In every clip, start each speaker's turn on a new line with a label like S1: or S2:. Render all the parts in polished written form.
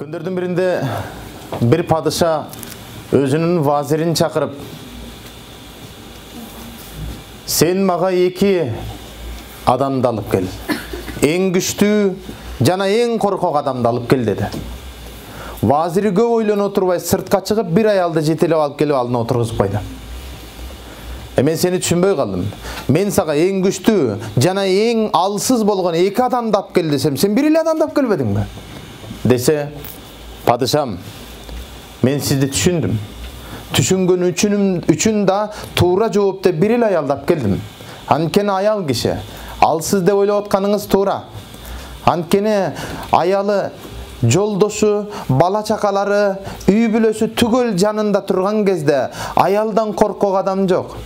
S1: Күндөрдүн биринде bir падыша өзүнүн вазирин чакырып, сен мага эки адамды алып кел. Эң күчтүү жана эң коркок адамды алып кел деди. Вазири көп ойлоно турбай сыртка чыгып bir аялды жетелеп алып келип алдына отургузуп койду. Мен сени түшүнбөй калдым. Мен сага эң күчтүү жана эң алсыз болгон эки адамды алып кел десем, сен бир эле адамды алып келбедиңби? Десе, падышам, мен сизди түшүндүм. Түшүнгөн үчүн да туура жооп деп бир эле аялды алып келдим. Анткени аял киши алсыз деп ойлоп атканыңыз туура. Анткени аялы, жолдошу, бала чакалары, үй бүлөсү түгөл жанында турган кезде аялдан коркок адам жок.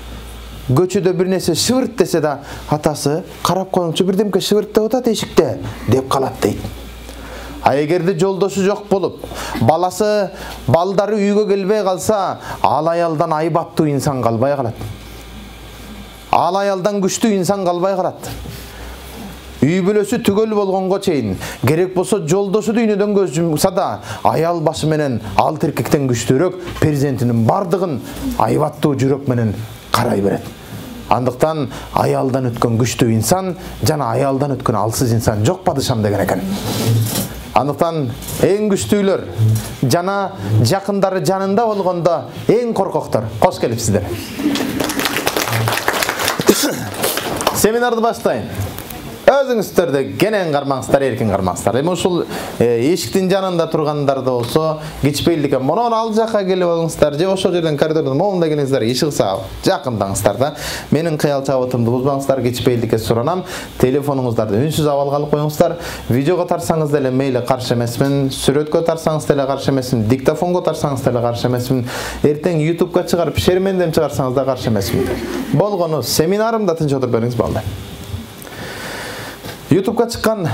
S1: Көчөдө бир нерсе шыбырт десе да, атасы карап коюңчу, бирдемке шыбырттап атат эшикте деп калат дейт. А эгерде жолдошу жок болуп, баласы, балдары үйгө келбей калса, ал аялдан айбаттуу инсан калбай калат. Ал аялдан күчтүү инсан калбай калат. Үй бүлөсү түгөл болгонго чейин, керек болсо жолдошу дүйнөдөн көз жумса да, аял башы менен ал эркектен күчтүүрөөк перзентинин бардыгын айбаттуу жүрөк менен карай берет. Андыктан аялдан өткөн күчтүү инсан жана аялдан өткөн алсыз инсан жок падышам деген экен. Андыктан эң күчтүүлөр жана жакындары жанында болгондо эң коркоктор кош келипсиздер. Семинарды баштайын. Өзүңүздөрдө кенен кармаңыздар, эркин кармаңыздар. Эми ушул эшиктин жанында тургандарды болсо, кичпейлдикке монон ал жакка келип алыңыздар, же ошол жерден коридордон моунда келиңиздер, ишигса жакындаңыздар да. Менин кыял чабытымды бузбаңыздар, кичпейлдикке суранам. Телефонуңуздарды үнсүз абалга алып коюңуздар. Видеого тарсаңыз деле мейли каршы эмесмин, сүрөткө тарсаңыз деле каршы эмесмин, диктофонго тарсаңыз деле каршы эмесмин, эртең YouTube'га чыгарып шермендем чыгарсаңыз да каршы эмесмин. Болгону семинарымда тынч отуруп бериңиз балдар. YouTube'га чыккан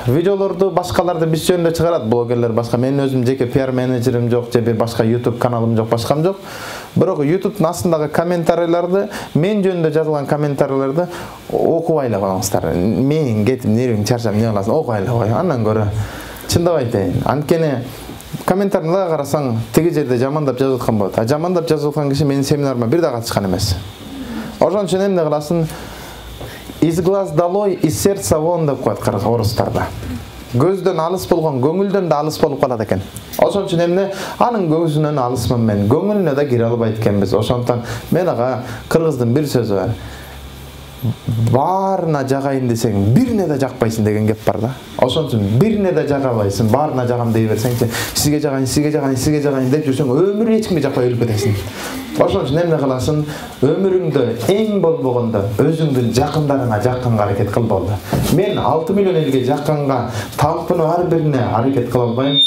S1: видеолорду башкаларды биз жөнүндө чыгарат, блогерлер башка. Менин өзүм жеке пиар менеджерим жок, же бир башка YouTube каналым жок, башкам жок. Бирок YouTube'дун астындагы комментарийлерди, мен жөнүндө жазылган комментарийлерди окубай эле коюңуздар. Мен кетип нервиң чарчап не кыласың, окубай эле кой. Андан көрө чындап айтайын. Анткени комментарийди карасаң, тиги жерде жамандап жазып аткан болот. А жамандап жазып аткан киши менин семинарыма бир да катышкан эмес. Ошон үчүн эмне кыласың? Из глаз долой, из сердца вон деп коет орустарда. Көздөн алыс болгон көңүлдөн да алыс болуп калат экен. Ошон үчүн эмне анын көзүнөн алысмын мен, көңүлүнө да кире албайт экенбиз. Ошондон мен ага кыргыздын бир сөзү бар. Баарына жагайын десең, бирине да жакпайсың деген кеп бар да. Ошон үчүн бирине да жагабайсың, баарына жагам дей берсеңчи, сизге жагайын, сизге жагайын, сизге жагайын деп жүрсөң, өмүрү эч кимге жакпай өлүп кетесиң. Ошон үчүн эмне кыласың? Өмүрүңдө эң болбогондо өзүңдүн жакындарыңа жакканга аракет кыл болду. Мен 6 миллион элге жакканга талпынып ар бирине аракет кыла албайм.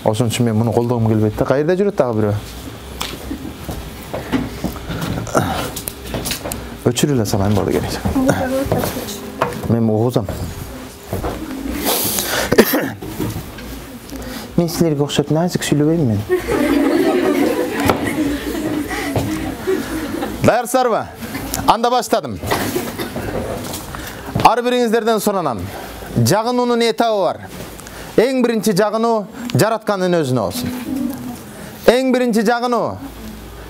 S1: Ошон үчүн мен муну колдогум келбейт да. Кайерде жүрөт дагы бирөө? Өчүрүп эле салайын болду керек. Мен угузам. Мен силерге окшоп назик сүйлөбөйм мен. Даярсыздарбы? Анда баштадым. Ар бириңиздерден суранам. Жагынуунун этабы бар. Эң биринчи жагынуу жараткандын өзүнө болсун. Эң биринчи жагынуу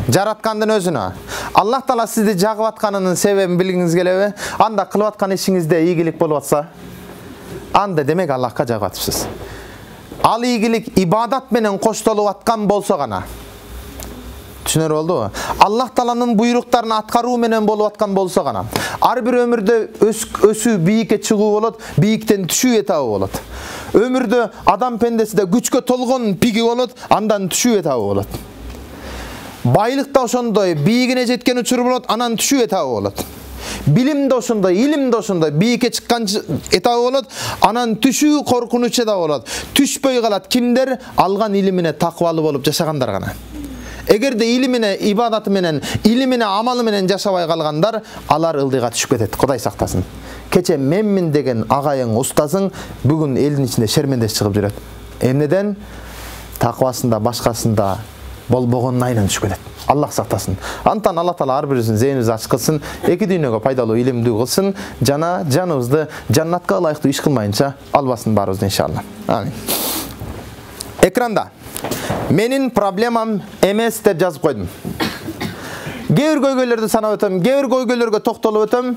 S1: жараткандын өзүнө. Аллах Таала сизди жагып атканынын себебин билгиңиз келеби? Анда кылып аткан ишиңизде ийгилик болуп атса, анда демек Аллахка жагып атыпсыз. Ал ийгилик ибадат менен коштолуп аткан болсо гана. Түшүнөр болдубу? Аллах Тааланын буйруктарын аткаруу менен болуп аткан болсо гана. Ар бир өмүрдө өсүү, бийикке чыгуу болот, бийиктен түшүү этабы болот. Өмүрдө адам пендесиде күчкө толгон пиги болот, андан түшүү этабы болот. Байлыкта ошондой бийигине жеткен учур болот, анан түшүү этабы болот. Билимде ошондой, илимде ошондой бийикке чыккан этабы болот, анан түшүү коркунуч этабы болот. Түшпөй калат кимдер? Алган илимине такыбалуу болуп жашагандар гана. Эгерде илимине, ибадаты менен, илимине, амалы менен жашабай калгандар, алар ылдыйга түшүп кетет. Кудай сактасын. Кече менмин деген агайың, устазың бүгүн элдин ичинде шермендеш чыгып жүрөт. Эмнеден? Такыбасында, башкасында болбогонун айынан түшүп кетет. Аллах сактасын. Антан Алла Таала ар бирибиздин зээнибизди ачык кылсын, эки дүйнөгө пайдалуу, илимдүү кылсын, жана жаныбызды жаннатка ылайыктуу иш кылмайынча албасын баарыбызды иншалла. Амин. Экранда менин проблемам эмес деп жазып койдум. Кээ бир көйгөйлөрдү санап өтөм, кээ бир көйгөйлөргө токтолуп өтөм.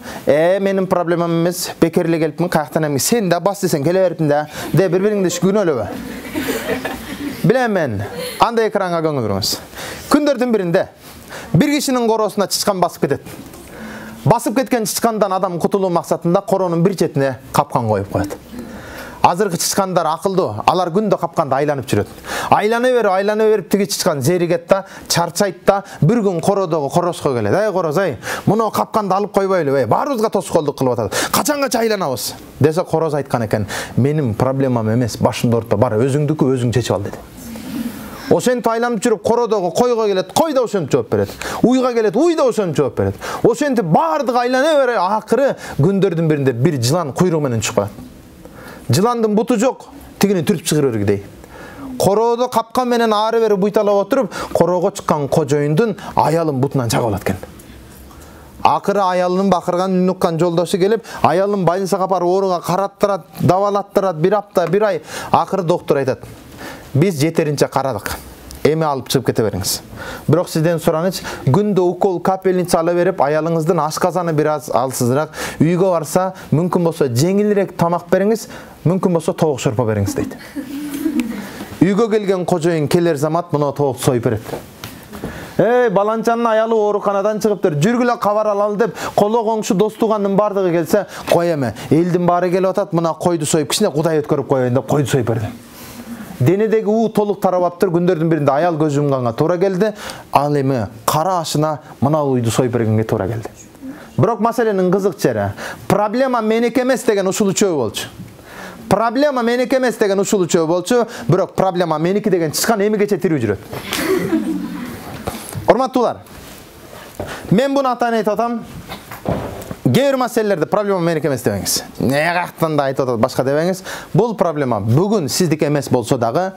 S1: Менин проблемам эмес, бекер эле келипмин, каяктан эми сен да бас десең келе бериптин да, деп бири-бириңди күнөөлөбө. Билем мен, андай экранга көңүл буруңуз. Күндөрдүн биринде бир кишинин короосуна чычкан басып кетет. Басып кеткен чычкандан адам кутулуу максатында коронун бир четине капкан коюп коет. Азыркы чычкандар акылдуу, алар күндө капканда айланып жүрөт. Айлана берип тиги чычкан зеригет да, чарчайт да, бир күн кородогу короско келет. Ай короз, ай, муну капканда алып койбойлу, баарыбызга тоскоолдук кылып атат. Качанга айланабыз? Десе короз айткан экен, менин проблемам эмес, башымда орто бар, өзүңдүкү өзүң чечип ал деди. Ошентип айланып жүрүп кородогу койго келет, кой да ошентип жооп берет. Уйга келет, уй да ошентип жооп берет. Ошентип баардыгы айлана бере, акыры күндөрдүн биринде бир жылан куйругу менен чыгып калат. Жыландын буту жок, тигини түртүп чыгырып бергидей. Короодо капкан менен ары бери буйталап отуруп, короого чыккан кожоюндун аялын бутунан чагып алат экен. Акыры аялынын бакырган үнүн уккан жолдошу келип, аялын больницага апарып ооруга караттырат, дабалаттырат, бир апта, бир ай. Акыры доктор айтат: "Биз жетеринче карадык. Эми алып чыгып кете бериңиз. Бирок сизден сураныч, күндө укол капельница ала берип, аялыңыздын ашказаны бир аз алсызыраак, үйгө барса, мүмкүн болсо жеңилирээк тамак бериңиз, мүмкүн болсо тобок шорпо бериңиз" дейт. Үйгө келген кожоюн келер замат мына тобок союп берет. Баланчанын аялы ооруканадан чыгыптыр, жүргүлө кабар алалы деп, коло коңшу дос туугандын бардыгы келсе, "Кой эми, элдин баары келип атат, мына койду союп, кичине Кудай өткөрүп коеюн" деп койду союп берди. Денедеги уу толук тарабаптыр, күндөрдүн биринде аял көз жумганга туура келди. Ал эми кара ашына мына уйду союп бергенге туура келди. Бирок маселенин кызык жери, проблема меники эмес деген ушул үчөө болчу. Проблема меники эмес деген ушул үчөө болчу, бирок проблема меники деген чычкан эмигече тирүү жүрөт. Урматтуулар, мен буну атайын айтып атам. Кээ бир маселелерде проблема меники эмес дебеңиз. Каяктан да айтып атат башка дебеңиз. Бул проблема бүгүн сиздики эмес болсо дагы,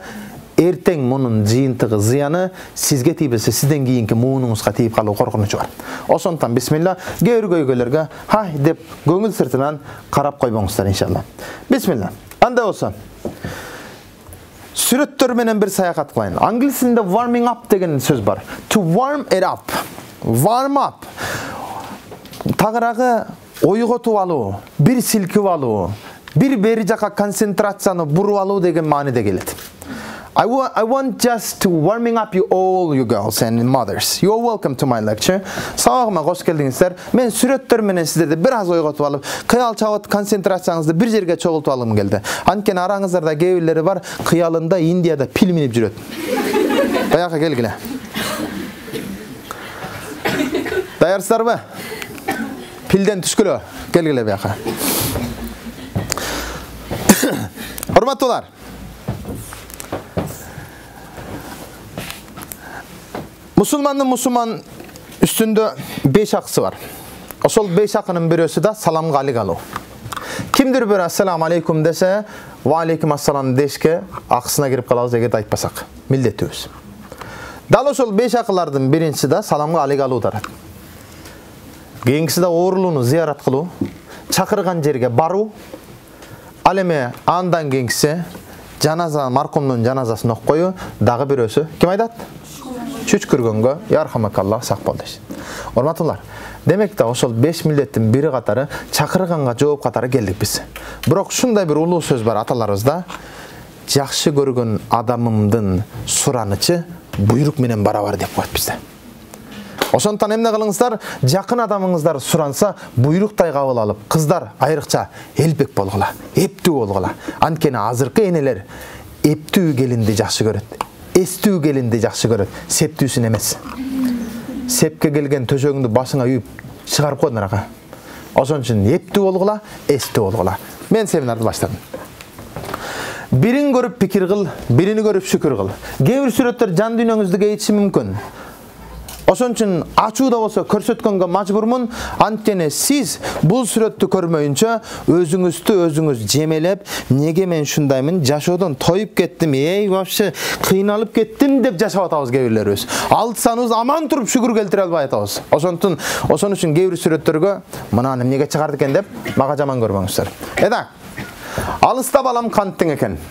S1: эртең мунун жыйынтыгы, зыяны сизге тийбесе, сизден кийинки муунуңузга тийип калуу коркунучу бар. Ошондуктан бисмилла, кээ бир көйгөйлөргө хай деп көңүл сыртынан карап койбоңуздар иншалла. Бисмилла. Андай болсо, сүрөттөр менен бир саякат кылайын. Англис тилинде warming up деген сөз бар. To warm it up. Warm up. Тагыраагы ойготуп алуу, бир силкип алуу, бир бери жака концентрацияны буруп алуу деген мааниде келет. I want just to warming up you all, you girls and mothers. You are welcome to my lecture. Сабагыма кош келдиңиздер. Мен сүрөттөр менен сиздерди бир аз ойготуп алып, кыял чабыт концентрацияңызды бир жерге чогултуп алгым келди. Анткени араңыздарда кээ бирлери бар, кыялында Индияда пил минип жүрөт. Баягы келгиле. Даярсыздарбы? Пилден түшкүлө, келгиле бияка. Урматтуулар, мусулмандын мусулман үстүндө 5 акысы бар. Ошол 5 акынын бирөөсү да саламга алик алуу. Кимдир бир ассаламу алейкум десе, ва алейкум ассалам дешке акысына кирип калабыз эгерде айтпасак. Милдеттүүбүз. Дал ошол 5 акылардын биринчиси да саламга алик алуу тарат. Кийинкиси да оорулууну зыярат кылуу, чакырган жерге баруу. Ал эми андан кийинкиси жаназа, маркумдун жаназасын окуп коюу, дагы бирөөсү ким айтат? Чүчкүргөнгө ярхамакалла сак бол дейт. Урматтуулар, демек да ошол 5 милдеттин бири катары чакырганга жооп катары келдик биз. Бирок ушундай бир улуу сөз бар аталарыбызда: жакшы көргөн адамымдын суранычы буйрук менен барабар деп коет бизде. Ошондуктан эмне кылыңыздар, жакын адамыңыздар суранса, буйруктай кабыл алып, кыздар айрыкча элбек болгула, эптүү болгула. Анткени азыркы энелер эптүү келинди жакшы көрөт. Эстүү келинди жакшы көрөт, септүүсүн эмес. Сепке келген төшөгүңдү башыңа үйүп чыгарып койдун арака. Ошон үчүн эптүү болгула, эстүү болгула. Мен семинарды баштадым. Бирин көрүп пикир кыл, бирини көрүп шүкүр кыл. Кээ бир сүрөттөр жан дүйнөңүздү кейитиши мүмкүн. Ошон үчүн ачууда болсо көрсөткөнгө мажбурмун. Анткени сиз бул сүрөттү көрмөйүнчө өзүңүз жемелеп, неге мен ушундаймын, жашоодон тоюп кеттим, вообще кыйналып кеттим деп жашап атабыз кээ бирлерибиз. Алтсаныбыз аман туруп шүгүр келтире албай атабыз. Ошон үчүн кээ бир сүрөттөргө мынаны эмнеге чыгарды экен деп мага жаман көрбөңүздөр. Эда, алыста балам канттың экен.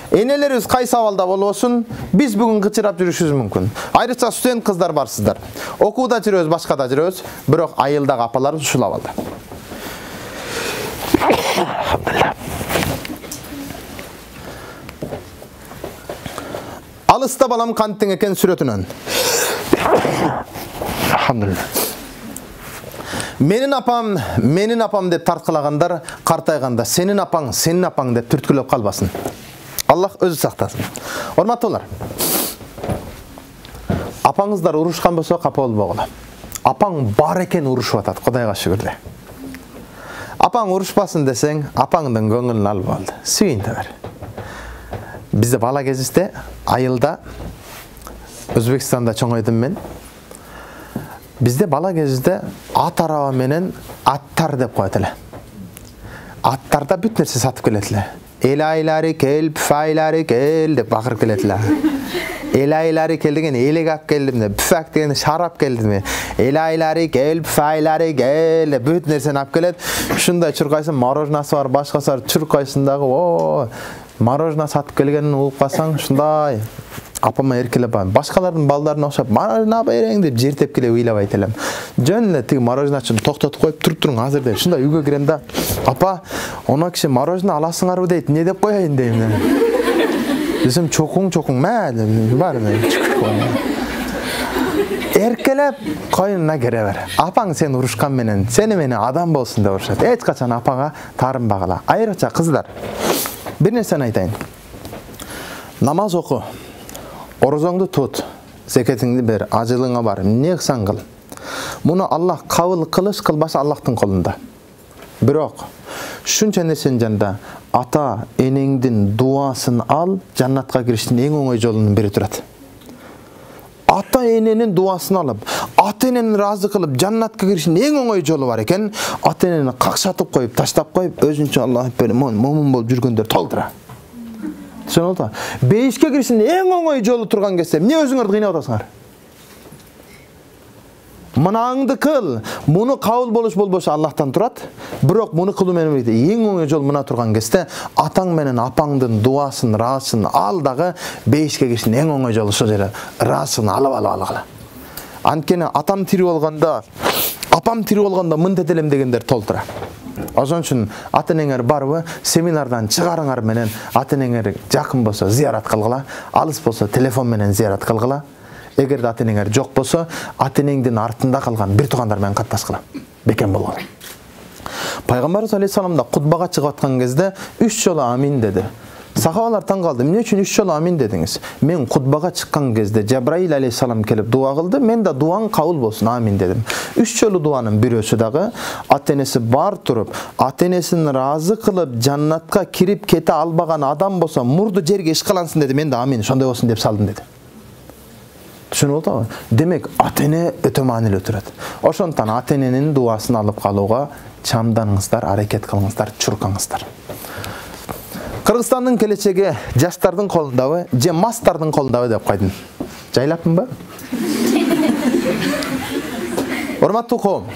S1: Энелерибиз кайсы абалда болбосун, биз бүгүн кычырап жүрүшүбүз мүмкүн. Айрыкча студент кыздар барсыздар. Окууда жүрөбүз, башкада жүрөбүз, бирок айылдагы апаларыбыз ушул абалда. Алыста балам канттың экен сүрөтүнөн. Менин апам деп тарткылагандар картайганда сенин апаң деп түрткүлөп калбасын. Аллах өзү сактасын. Урматтуулар. Апаңыздар урушкан болсо капа болбогула. Апаң бар экен урушуп атат, Кудайга шүгүр. Апаң урушпасын десең, апаңдын көңүлүн алып алды. Сүйүнтө бер. Бизде бала кезибизде айылда Өзбекстанда чоңойдум мен. Бизде бала кезибизде ат араба менен аттар деп коет эле. Аттарда бүт нерсе сатып келет эле. Элайлары кел, пфайлары кел деп бакырып келет эле. Элайлары кел деген элек алып келдим деп, пфак деген шарап келдим. Элайлары кел, пфайлары кел деп бүт нерсени алып келет. Ушундай чуркайсын, мороженасы бар, башкасы бар, чуркайсындагы мороженое сатып келгенин угуп калсаң, ушундай апама эркелеп барам. Башкалардын балдарына окшоп, мороженое берең деп жер тепкилеп ыйлабайт элем. Жөн эле тиги мороженечини токтотуп коюп, туруп туруң азыр деп. Ушундай үйгө кирем да, апа, она киши мороженое аласыңарбы дейт, эмне деп коеюн дейм. Десем, чокуң, мә деп, бар эркелеп койнуна кире бер. Апаң сени урушкан менен, сени менен адам болсун деп урушат. Эч качан апага таарынбагыла. Айрыкча кыздар. Bir нерсени айтайын. Намаз оку. Орозоңду тут, зекетиңди бер, ажылыңа бар, эмне кылсаң кыл. Муну Аллах кабыл кылыш кылбашы Аллахтын колунда. Бирок шунча нерсенин жанында ата энеңдин дуасын ал, жаннатка кириштин эң оңой жолунун бири турат. Ата эненин дуасын алып, ата энени разы кылып, жаннатка кириштин эң оңой жолу бар экен, ата энени какшатып коюп, таштап коюп, өзүнчө Аллах момун болуп жүргөндөр толтура. Түшүнүп? Бейишке кириштин эң оңой жолу турган кезде, эмне өзүңөрдү кыйнап атасыңар? Мынаңды кыл, муну кабыл болуш болбошу Аллахтан турат. Бирок муну кылуу менен бирге эң оңой жол мына турган кезде атаң менен апаңдын дуасын, разысын ал дагы бейишке кириштин эң оңой жолу ошол жерде разысын алып алгыла. Анткени атам тирүү болгондо, апам тирүү болгондо мынтет элем дегендер толтура. Ошон үчүн ата энеңер барбы, семинардан чыгарыңар менен ата энеңер жакын болсо зыярат кылгыла, алыс болсо телефон менен зыярат кылгыла. Эгер ата энеңер жок болсо, ата энеңдин артында калган бир туугандар менен катташкыла. Бекем болгула. Пайгамбарыбыз алейхиссалам да кутбага чыгып аткан кезде 3 жолу амин деди. Сахабалар таң калды. Эмне үчүн 3 жолу амин дедиңиз? Мен кутбага чыккан кезде Жабраил алейхиссалам келип дуа кылды, мен да дуаң кабыл болсун, амин дедим. 3 жолу дуанын бирөөсү дагы ата энеси бар туруп, ата энесин разы кылып, жаннатка кирип кете албаган адам болсо, мурду жерге ишкалансын деди, мен да амин, ошондой болсун деп салдым деди. Түшүнүп атабы? Демек, ата эне өтө маанилүү турат. Ошондон ата эненин дуасын алып калууга чамданыңыздар, аракет кылыңыздар, чуркаңыздар. Кыргызстандын келечеги жаштардын колундабы, же мастардын колундабы деп койдум. Жайлаппынбы? Урматтуу коом,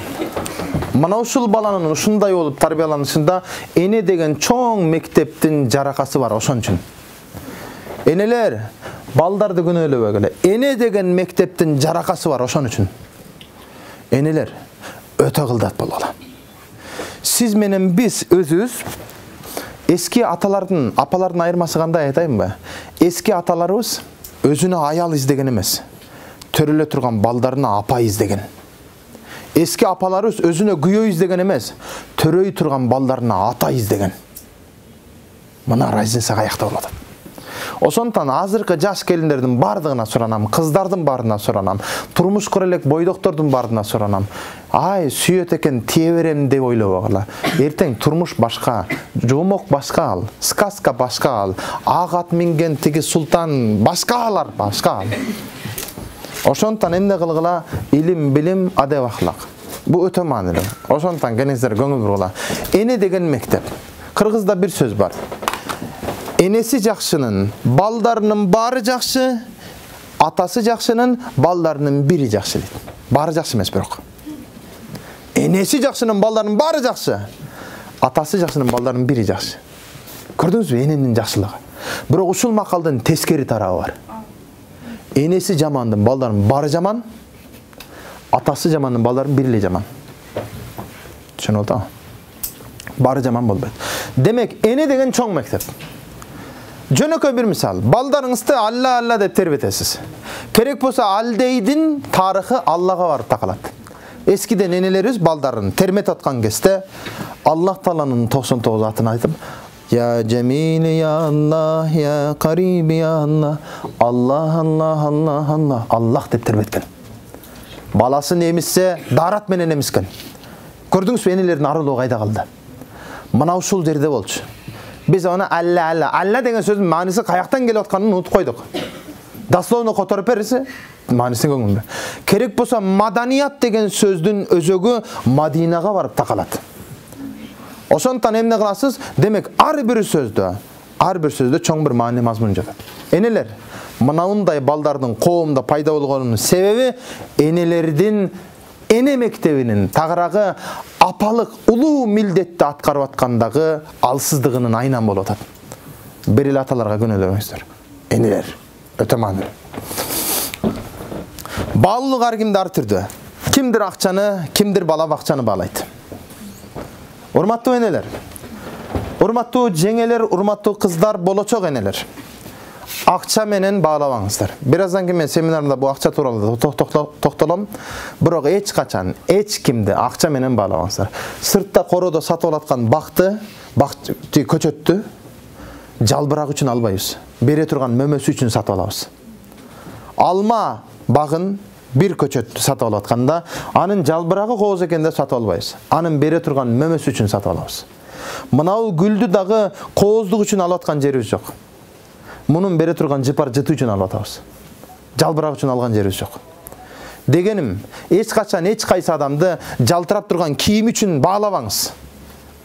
S1: мына ушул баланын ушундай болуп тарбияланышында эне деген чоң мектептин жаракасы бар, ошон үчүн. Энелер, балдарды күнөөлөбөгүлө. Эне деген мектептин жаракасы бар, ошон үчүн. Энелер, өтө кылдат болгула. Сиз менен биз өзүбүз эски аталардын, апалардын айырмасы кандай айтайынбы? Эски аталарыбыз өзүнө аял издеген эмес, төрөлө турган балдарына апа издеген. Эски апаларыбыз өзүнө күйөө издеген эмес, төрөй турган балдарына ата издеген. Мына разница каякта болот. Ошондон азыркы жаш келиндердин бардыгына суранам, кыздардын баарына суранам, турмуш кура элек бойдоктордун баарына суранам. Ай, сүйөт экен тие берем деп ойлобогула. Эртең турмуш башка, жоомок башка ал, сказка башка ал, ак ат минген тиги султан башка алар, башка ал. Ошондон эмне кылгыла? Илим, билим, адеп, ахлак. Бу өтө маанилүү. Ошондон кеңиздер көңүл бургула. Эне деген мектеп. Кыргызда бир сөз бар. Энеси жакшынын балдарынын баары жакшы, атасы жакшынын балдарынын бири жакшы дейт. Баары жакшы эмес бирок. Энеси жакшынын балдарынын баары жакшы, атасы жакшынын балдарынын бири жакшы. Көрдүңүзбү эненин жакшылыгы? Бирок ушул макалдын тескери тарабы бар. Энеси жамандын балдарынын баары жаман, атасы жамандын балдарынын бири эле жаман. Түшүнүп атабы? Баары жаман болбойт. Демек, эне деген чоң мектеп. Жөнөкөй бир мисал. Балдарыңызды Алла деп тербетесиз. Керек болсо Алдейдин тарыхы Аллага барып такалат. Эскиден энелерибиз балдарын термет аткан кезде Аллах Тааланын 99 атын айтып, Я Джамил, я Аллах, я Кариб, я Аллах, Аллах, Аллах, Аллах, Аллах, Аллах деп тербеткен. Баласы немиссе, дарат менен эмискен. Көрдүңүзбү энелердин арылуу кайда калды? Мына ушул жерде болчу. Биз аны Алла деген сөздүн мааниси каяктан келип атканын унутуп койдук. Дословно которуп берсе, маанисин көңүлдө. Керек болсо маданият деген сөздүн өзөгү Мадинага барып такалат. Ошондон эмне кыласыз? Демек, ар бир сөздө чоң бир маани мазмун жатат. Энелер, мынандай балдардын коомдо пайда болгонунун себеби энелердин эне мектебинин тагыраагы апалык улуу милдетти аткарып аткандагы алсыздыгынын айнан болуп атат. Бир эле аталарга күнөөлөбөңүздөр. Энелер өтө маанилүү. Баалуулук ар кимде ар түрдүү. Кимдир акчаны, кимдир бала бакчаны баалайт. Урматтуу энелер, урматтуу жеңелер, урматтуу кыздар, болочок энелер. Акча менен баалабаңыздар. Бир аздан кийин мен семинарымда бул акча тууралуу токтолом. Бирок эч качан, эч кимди акча менен баалабаңыздар. Сыртта короодо сатып алаткан көчөттү жалбырак үчүн албайбыз. Бере турган мөмөсү үчүн сатып алабыз. Алма багын бир көчөттү сатып алып атканда, анын жалбырагы кооз экен деп сатып албайбыз. Анын бере турган мөмөсү үчүн сатып алабыз. Мынау гүлдү дагы кооздук үчүн алып аткан жерибиз жок. Мунун бере турган жыпар жыты үчүн алып атабыз. Жалбырак үчүн алган жерибиз жок. Дегеним, эч качан эч кайсы адамды жалтырап турган кийим үчүн баалабаңыз.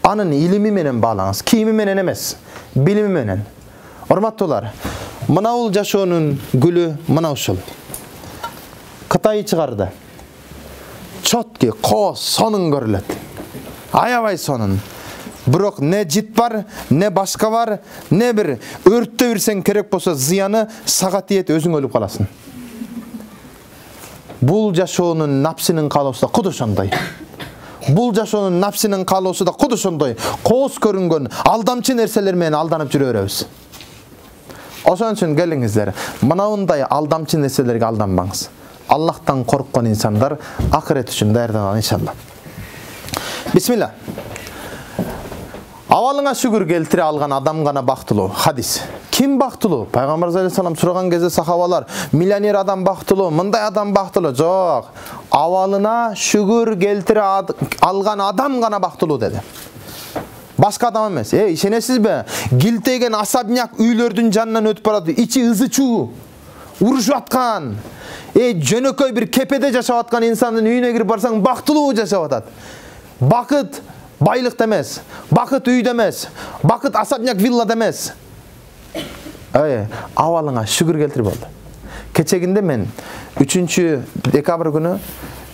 S1: Анын илими менен баалаңыз. Кийими менен эмес, билими менен. Урматтуулар, мынау жашоонун гүлү мына ушул. Кытай чыгарды. Чотки, кооз, сонун көрүлөт. Аябай сонун. Бирок не жит бар, не башка бар, не бир өрттө бирсең керек болсо зыяны сагат ийет өзүң өлүп каласың. Бул жашоонун напсинин каалоосу да куду ошондой. Бул жашоонун напсинин каалоосу да куду ошондой. Кооз көрүнгөн алдамчы нерселер менен алданып жүрө беребиз. Ошон үчүн келиңиздер, мынандай алдамчы нерселерге алданбаңыз. Аллахтан корккон инсандар акырет үчүн даярданат иншалла. Бисмилла. Авалыңа шүгүр келтире алган адам гана бактылуу. Хадис. Ким бактылуу? Пайгамбар саллаллаху алейхи сураган кезде сахабалар, миллионер адам бактылуу, мындай адам бактылуу. Жок. Авалына шүгүр келтире алган адам гана бактылуу деди. Башка адам эмес. Ишенесизби? Гилтеген асабняк үйлөрдүн жанынан өтүп барат, ичи ызычуу, урушуп аткан. Жөнөкөй бир кепеде жашап аткан инсандын үйүнө кирип барсаң бактылуу жашап атат. Бакыт байлыкта эмес, бакыт үйдө эмес, бакыт асабняк виллада эмес. Авалыңа шүгүр келтирип болду. Кечегинде мен 3 декабрь күнү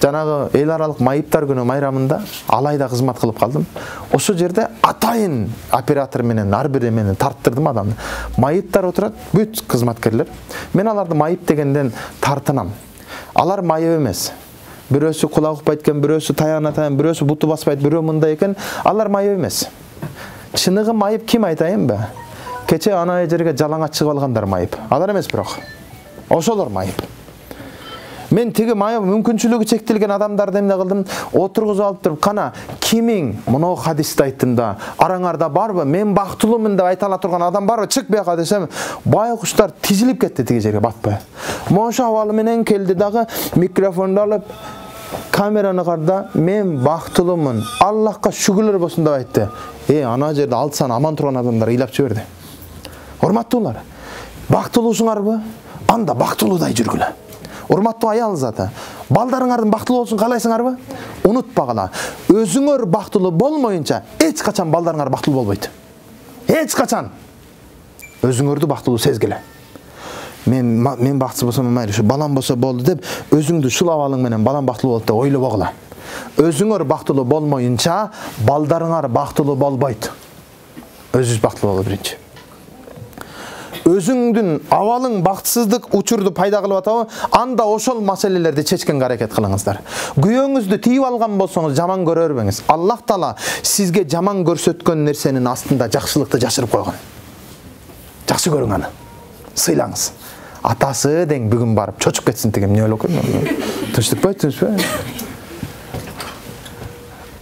S1: жанагы эл аралык майыптар күнү майрамында Алайда кызмат кылып калдым. Ошол жерде атайын оператор менен ар бири менен тарттырдым адамды. Майыптар отурат, бүт кызматкерлер. Мен аларды майып дегенден тартынам. Алар майып эмес. Бирөөсү кулак укпайт экен, бирөөсү таягына таян, бирөөсү буту баспайт, бирөө мындай экен. Алар майып эмес. Чыныгы майып ким айтайынбы? Кече ана жерге жалаңа чыгып алгандар майып. Алар эмес бирок. Ошолор майып. Мен тиги майып мүмкүнчүлүгү чектелген адамдарды эмне кылдым? Отургузуп алып туруп, кана кимиң моноо хадисти айттым да, араңарда барбы? Мен бактылуумун деп айта ала турган адам барбы? Чык бияка десем, байкуштар тизилип кетти тиги жерге батпай. Мошу абалы менен келди дагы микрофонду алып, камераны карда, мен бактылуумун, Аллахка шүгүрлөр болсун деп айтты. Ана жерде алтсан аман турган адамдар ыйлап жиберди. Урматтуулар, бактылуусуңарбы? Анда бактылуудай жүргүлө. Урматтуу аял заты, балдарыңардын бактылуу болсун каалайсыңарбы? Унутпагыла, өзүңөр бактылуу болмоюнча эч качан балдарыңар бактылуу болбойт. Эч качан. Өзүңөрдү бактылуу сезгиле. Мен бактсыз болсом майыр, ушу балам болсо болду деп, өзүңдү шулап алың менен балам бактылуу болот деп ойлобогула. Өзүңөр бактылуу болмоюнча балдарыңар бактылуу болбойт. Өзүңүз бактылуу болуу биринчи. Өзүңдүн абалың бактсыздык учурду пайда кылып атабы, анда ошол маселелерди чечкенге аракет кылыңыздар. Күйөөңүздү тийип алган болсоңуз жаман көрө бербеңиз. Аллах Таала сизге жаман көрсөткөн нерсенин астында жакшылыкты жашырып койгон. Жакшы көрүң аны. Сыйлаңыз. Атасы дең бүгүн барып чочуп кетсин дегем эмне ойлоп койдум. Тынчтыкпы?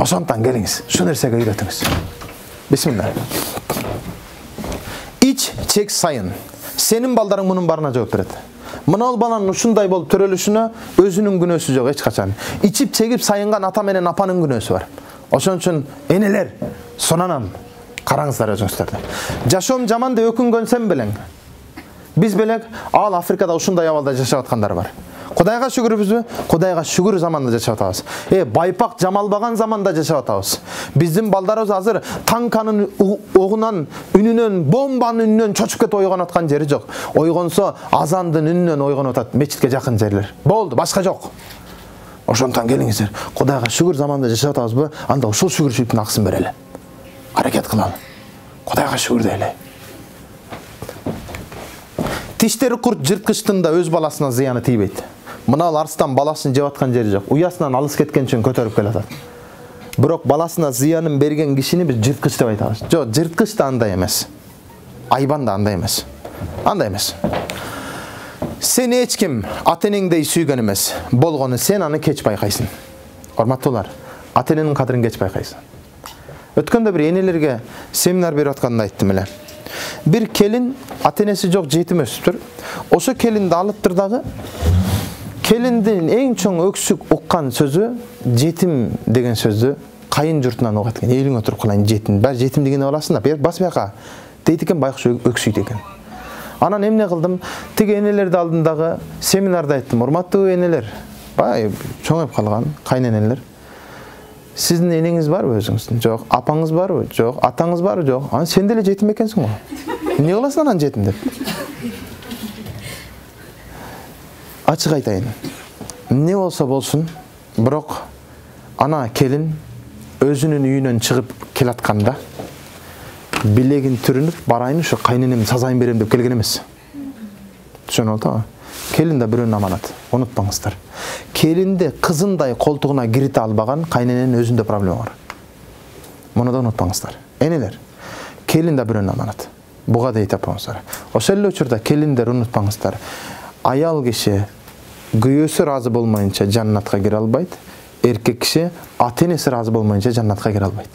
S1: Ошондон келиңиз, шу нерсеге үйрөтүңүз. Бисмилла. Ич чек сайын. Сенин балдарың мунун барына жооп берет. Мына баланын ушундай болуп төрөлүшүнө өзүнүн күнөөсү жок эч качан. Ичип чегип сайынган ата менен апанын күнөөсү бар. Ошон үчүн энелер, сонанам караңыздар өзүңүздөрдү. Жашоом жаман деп өкүнгөнсем белең. Биз белек ал Африкада ушундай абалда жашап аткандар бар. Кудайга шүгүрбүзбү? Кудайга шүгүр заманда жашап атабыз. Байпак жамалбаган заманда жашап атабыз. Биздин балдарыбыз азыр танканын огунан, үнүнөн, бомбанын үнүнөн чочуп кетип ойгонуп аткан жери жок. Ойгонсо азандын үнүнөн ойгонуп атат, мечитке жакын жерлер. Болду, башка жок. Ошондон келиңиздер. Кудайга шүгүр заманда жашап атабызбы? Анда ушул шүгүрчүлүктүн акысын берели. Аракет кылалы. Кудайга шүгүр дейли. Тиштери курт жырткычтын да өз баласына зыяны тийбейт. Мына арстан баласын жеп аткан жери жок. Уясынан алыс кеткен үчүн көтөрүп келатат. Бирок баласына зыянын берген кишини биз жырткыч деп айтабыз. Жок, жырткыч да андай эмес. Айбан да андай эмес. Андай эмес. Сени эч ким ата-энеңдей сүйгөн эмес. Болгону сен аны кеч байкайсың. Урматтуулар, ата-эненин кадырын кеч байкайсың. Өткөндө бир энелерге семинар берип атканда айттым эле. Bir kelin ata-enesi жок жетим өсүптүр. Ошо келинди алыптыр дагы. Келиндин эң чоң өксүк уккан сөзү жетим деген сөздү кайын журтунан угат экен. Элиң отуруп калайын жетим. Баары жетим дегенди аласың да, бас бияка дейт экен, байкуш өксүйт экен. Анан эмне кылдым? Тиги энелерди алдындагы семинарда айттым. Урматтуу энелер, бай чоңоюп калган кайненелер. Сиздин энеңиз барбы өзүңүздүн? Жок. Апаңыз барбы? Жок. Атаңыз барбы? Жок. Ана сен деле жетим экенсиң го. Эмне кыласың анан жетим деп? Ачык айтайын. Эмне болсо болсун, бирок ана келин өзүнүн үйүнөн чыгып келатканда билегин түрүнүп, барайын ушу кайненемдин сазайын берем деп келген эмес. Түшүнүп атабы? Келин да бирөөнүн аманаты. Унутпаңыздар. Келинди кызындай колтугуна кирите албаган кайнененин өзүндө проблема бар. Муну да унутпаңыздар. Энелер, келин да бирөөнүн аманаты. Буга дейт апаңыздар. Ошол эле учурда келиндер унутпаңыздар. Аял киши күйөөсү ыраазы болмоюнча жаннатка кире албайт. Эркек киши ата-энеси ыраазы болмоюнча жаннатка кире албайт.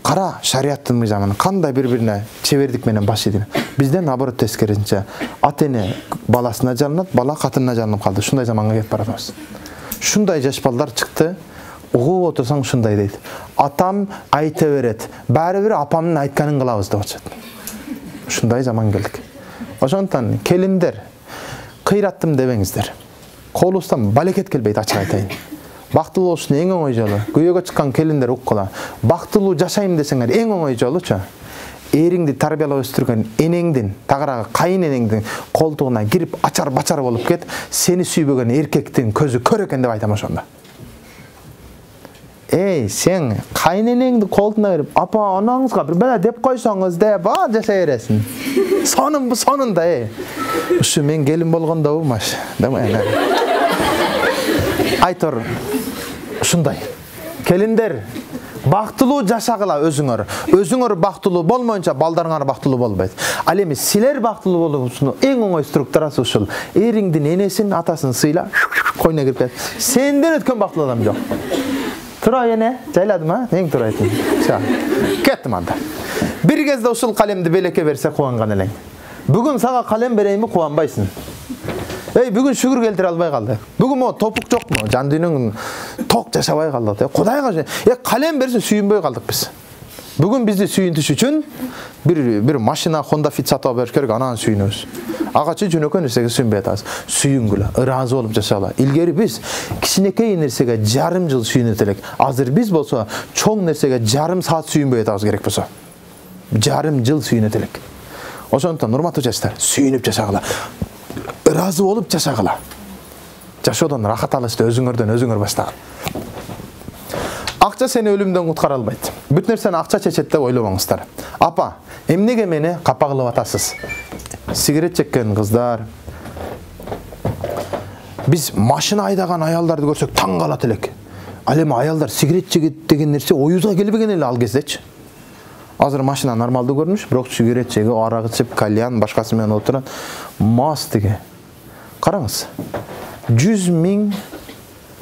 S1: Кара шариаттын мыйзамын кандай бири-бирине чебердик менен баш ийди. Бизден наоборот тескерисинче ата-эне баласына жалынат, бала катынына жалынып калды. Шундай заманга кетип баратабыз. Шундай жаш балдар чыкты. Угуп отурсаң шундай дейт. Атам айта берет. Баары бир апамдын айтканын кылабыз деп атышат. Шундай заман келдик. Ошондон келиндер кыйраттым дебеңиздер. Колубуздан балекет келбейт, ачык айтайын. Бактылуу болушунун эң оңой жолу, күйөөгө чыккан келиндер уккула. Бактылуу жашайм десеңер эң оңой жолучу. Эриңди тарбиялап өстүргөн энеңдин, тагыраагы кайын энеңдин колтугуна кирип ачар-бачар болуп кет, сени сүйбөгөн эркектин көзү көр экен деп айтам ошондо. Сен кайын энеңди колтуна берип, апа анаңызга бир бала деп койсоңуз деп, жашай бересиң. Сонун бу сонунда, Ушу мен келин болгондобу маш. Айтор ушундай. Келиндер, бактылуу жашагыла өзүңөр. Өзүңөр бактылуу болмоюнча балдарыңар бактылуу болбойт. Ал эми силер бактылуу болуңузун эң оңой структурасы ушул. Эриңдин энесин, атасын сыйла, койуна кирип кет. Сенден өткөн бактылуу адам жок. Тура эне, жайладым, эң туура айттым. Кеттим анда. Бир кезде ушул калемди белекке берсе кубанган элең. Бүгүн сага калем берейинби, кубанбайсың. Бүгүн шүгүр келтире албай калды. Бүгүн мо топук жокму? Жан дүйнөң ток жашабай калды. Кудайга калем берсе сүйүнбөй калдык биз. Бүгүн бизди сүйүнтүш үчүн бир машина Honda Fit сатып бериш керек, анан сүйүнөбүз. Агачы жөнөкөй нерсеге сүйүнбөй атабыз. Сүйүнгүлө, ыраазы болуп жашагыла. Илгери биз кичинекей нерсеге жарым жыл сүйүнөт элек. Азыр биз болсо чоң нерсеге жарым саат сүйүнбөй атабыз керек болсо. Жарым жыл сүйүнөт элек. Ошондон урматтуу жаштар, сүйүнүп жашагыла. Ыраазы болуп жашагыла. Жашоодон рахат алышты өзүңөрдөн өзүңөр баштагын. Акча сени өлүмдөн куткара албайт. Бүт нерсени акча чечет деп ойлобоңуздар. Апа, эмнеге мени капа кылып атасыз? Сигарет чеккен кыздар. Биз машина айдаган аялдарды көрсөк таң калат элек. Ал эми аялдар сигарет чегет деген нерсе оюбузга келбеген эле ал кездечи. Азыр машина нормалдуу көрүнүш, бирок сигарет чегип, арак ичип, кальян башкасы менен отурат. Мас деге. Караңыз. 100 000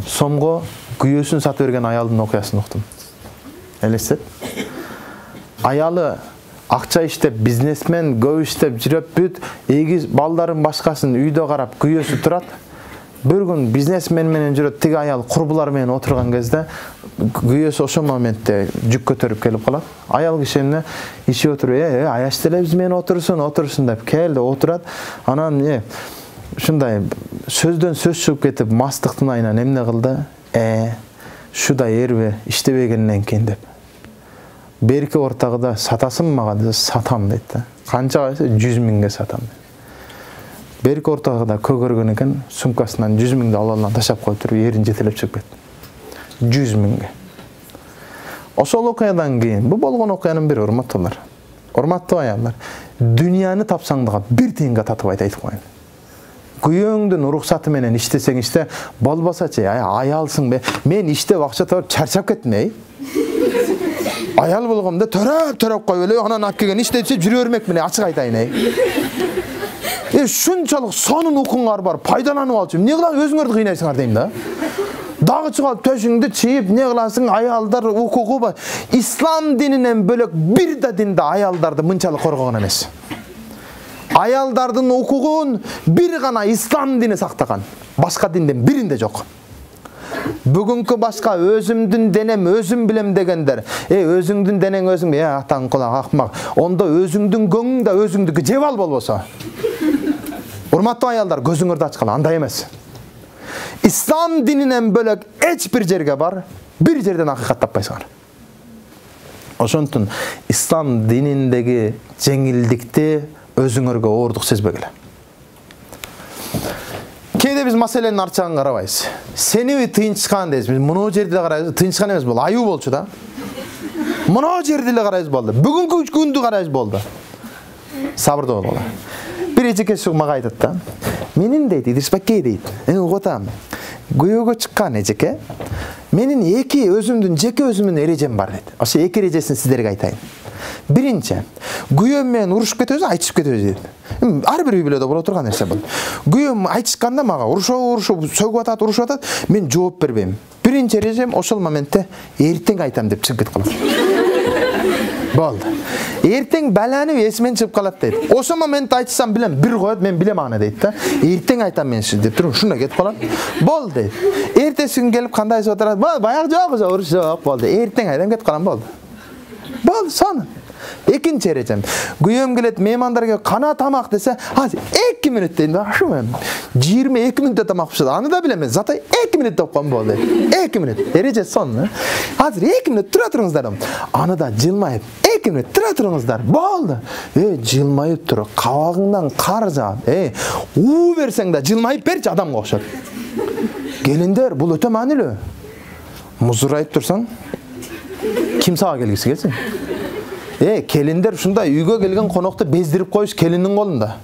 S1: сомго күйөөсүн сатып берген аялдын окуясын уктум. Элестет. Аялы акча иштеп, бизнесмен, көп иштеп жүрөп бүт, эгиз балдарын башкасын үйдө карап күйөөсү турат. Bir gün biznesmen менен жүрөт, тиги аял курбулар менен отурган кезде күйөөсү ошол моментте жүк көтөрүп келип калат. Аял киши эмне иши отуруп, аяш деле биз менен отурсун деп келди, отурат. Анан ушундай сөздөн сөз чыгып кетип, мастыктын айынан эмне кылды? Шуда эрби иштебегенден кийин деп. Берки ортагыда сатасың мага десе, сатам дейт да. Канчага десе 100 000ге сатам. Берки ортагыда көгөргөн экен, сумкасынан 100 000ди алалан ташап коюп туруп, эрин жетелеп чыгып кетти. 100 000ге. Ошол окуядан кийин, бул болгон окуянын бири, урматтуулар. Урматтуу аялдар, дүйнөнү тапсаң дагы бир тыйынга татып айтып коеюн. Күйөөңдүн уруксаты менен иштесең иште, болбосочу, аялсың бе? Мен иштеп акча тапып чарчап кеттим, Аял болгомда төрөп коюп эле, анан алып келген иштетип жүрө бермекмин, ачык айтайын, Шунчалык сонун укуңар бар, пайдаланып алчу. Эмне кыласың, өзүңөрдү кыйнайсыңар дейм да. Дагы чыгып төшүңдү чийип, не кыласың, аялдар укугу бар. Ислам дининен бөлөк бир да динде аялдарды мынчалык коргогон эмес. Аялдардын укугун бир гана ислам дини сактаган. Башка динден биринде жок. Бүгүнкү башка өзүмдүн денем өзүм билем дегендер. Өзүңдүн денең өзүң, атаң кулак акмак. Ондо өзүңдүн көңүң да өзүңдүкү жеп ал болбосо. Урматтуу аялдар, көзүңөрдү ачкыла, андай эмес. Ислам дининен бөлөк эч бир жерге бар, бир жерден акыйкат таппайсыңар. Ошонтун ислам дининдеги жеңилдикти өзүңөргө оордук сезбегиле. Кээде биз маселенин арчагын карабайбыз. Сени тыйынчыкан дейбиз. Биз мына жерде карайбыз, тыйынчыкан эмес бул, аюу болчу да. Мына жерде эле карайбыз болду. Бүгүнкү күндү карайбыз болду. Сабырдуу болгула. Bir ejeke мага айтат да. Менин дейт, Идирисбекке дейт. Угутам. Күйөөгө чыккан эжеке. Менин эки өзүмдүн жеке өзүмдүн эрежем бар дейт. Ошо эки эрежесин сиздерге айтайын. Биринчи, күйөөм менен урушуп кетебиз, айтышып кетебиз дейт. Ар бир үй бүлөдө боло турган нерсе бул. Күйөөм айтышканда мага урушуп, сөгүп атат, мен жооп бербейм. Биринчи эрежем ошол моментте эртең айтам деп чыгып кетип калам. Болду. Эртең баланып эсимен чыгып калат дейт. Ошол моментте айтсам билем, бир коет, мен билем аны дейт да. Эртең айтам мен сиз деп туруп, ушундай кетип калат. Болду дейт. Эртеси күн келип кандайсыз отурат? Баягы жок, уруш жок, болду. Эртең айтам кетип калам, болду. Болду, сонун. Экинчи эрежем. Күйөөм келет, меймандарга кана тамак десе, азыр 2 мүнөт дейм. Ашу мен 22 мүнөттө тамак пишет. Аны да билем, зато 2 мүнөт деп коем болду. 2 мүнөт. Эреже сонун. Азыр 2 мүнөт тура туруңуздар. Аны да жылмайып 2 мүнөт тура туруңуздар. Болду. Жылмайып туруп, кабагыңдан кар жаап. У берсең да жылмайып берчи, адамга окшот. Келиндер, бул өтө маанилүү. Музурайып турсаң, ким сага келгиси келсин? Келиндер ушундай үйгө келген конокту бездирип коюш келиндин колунда.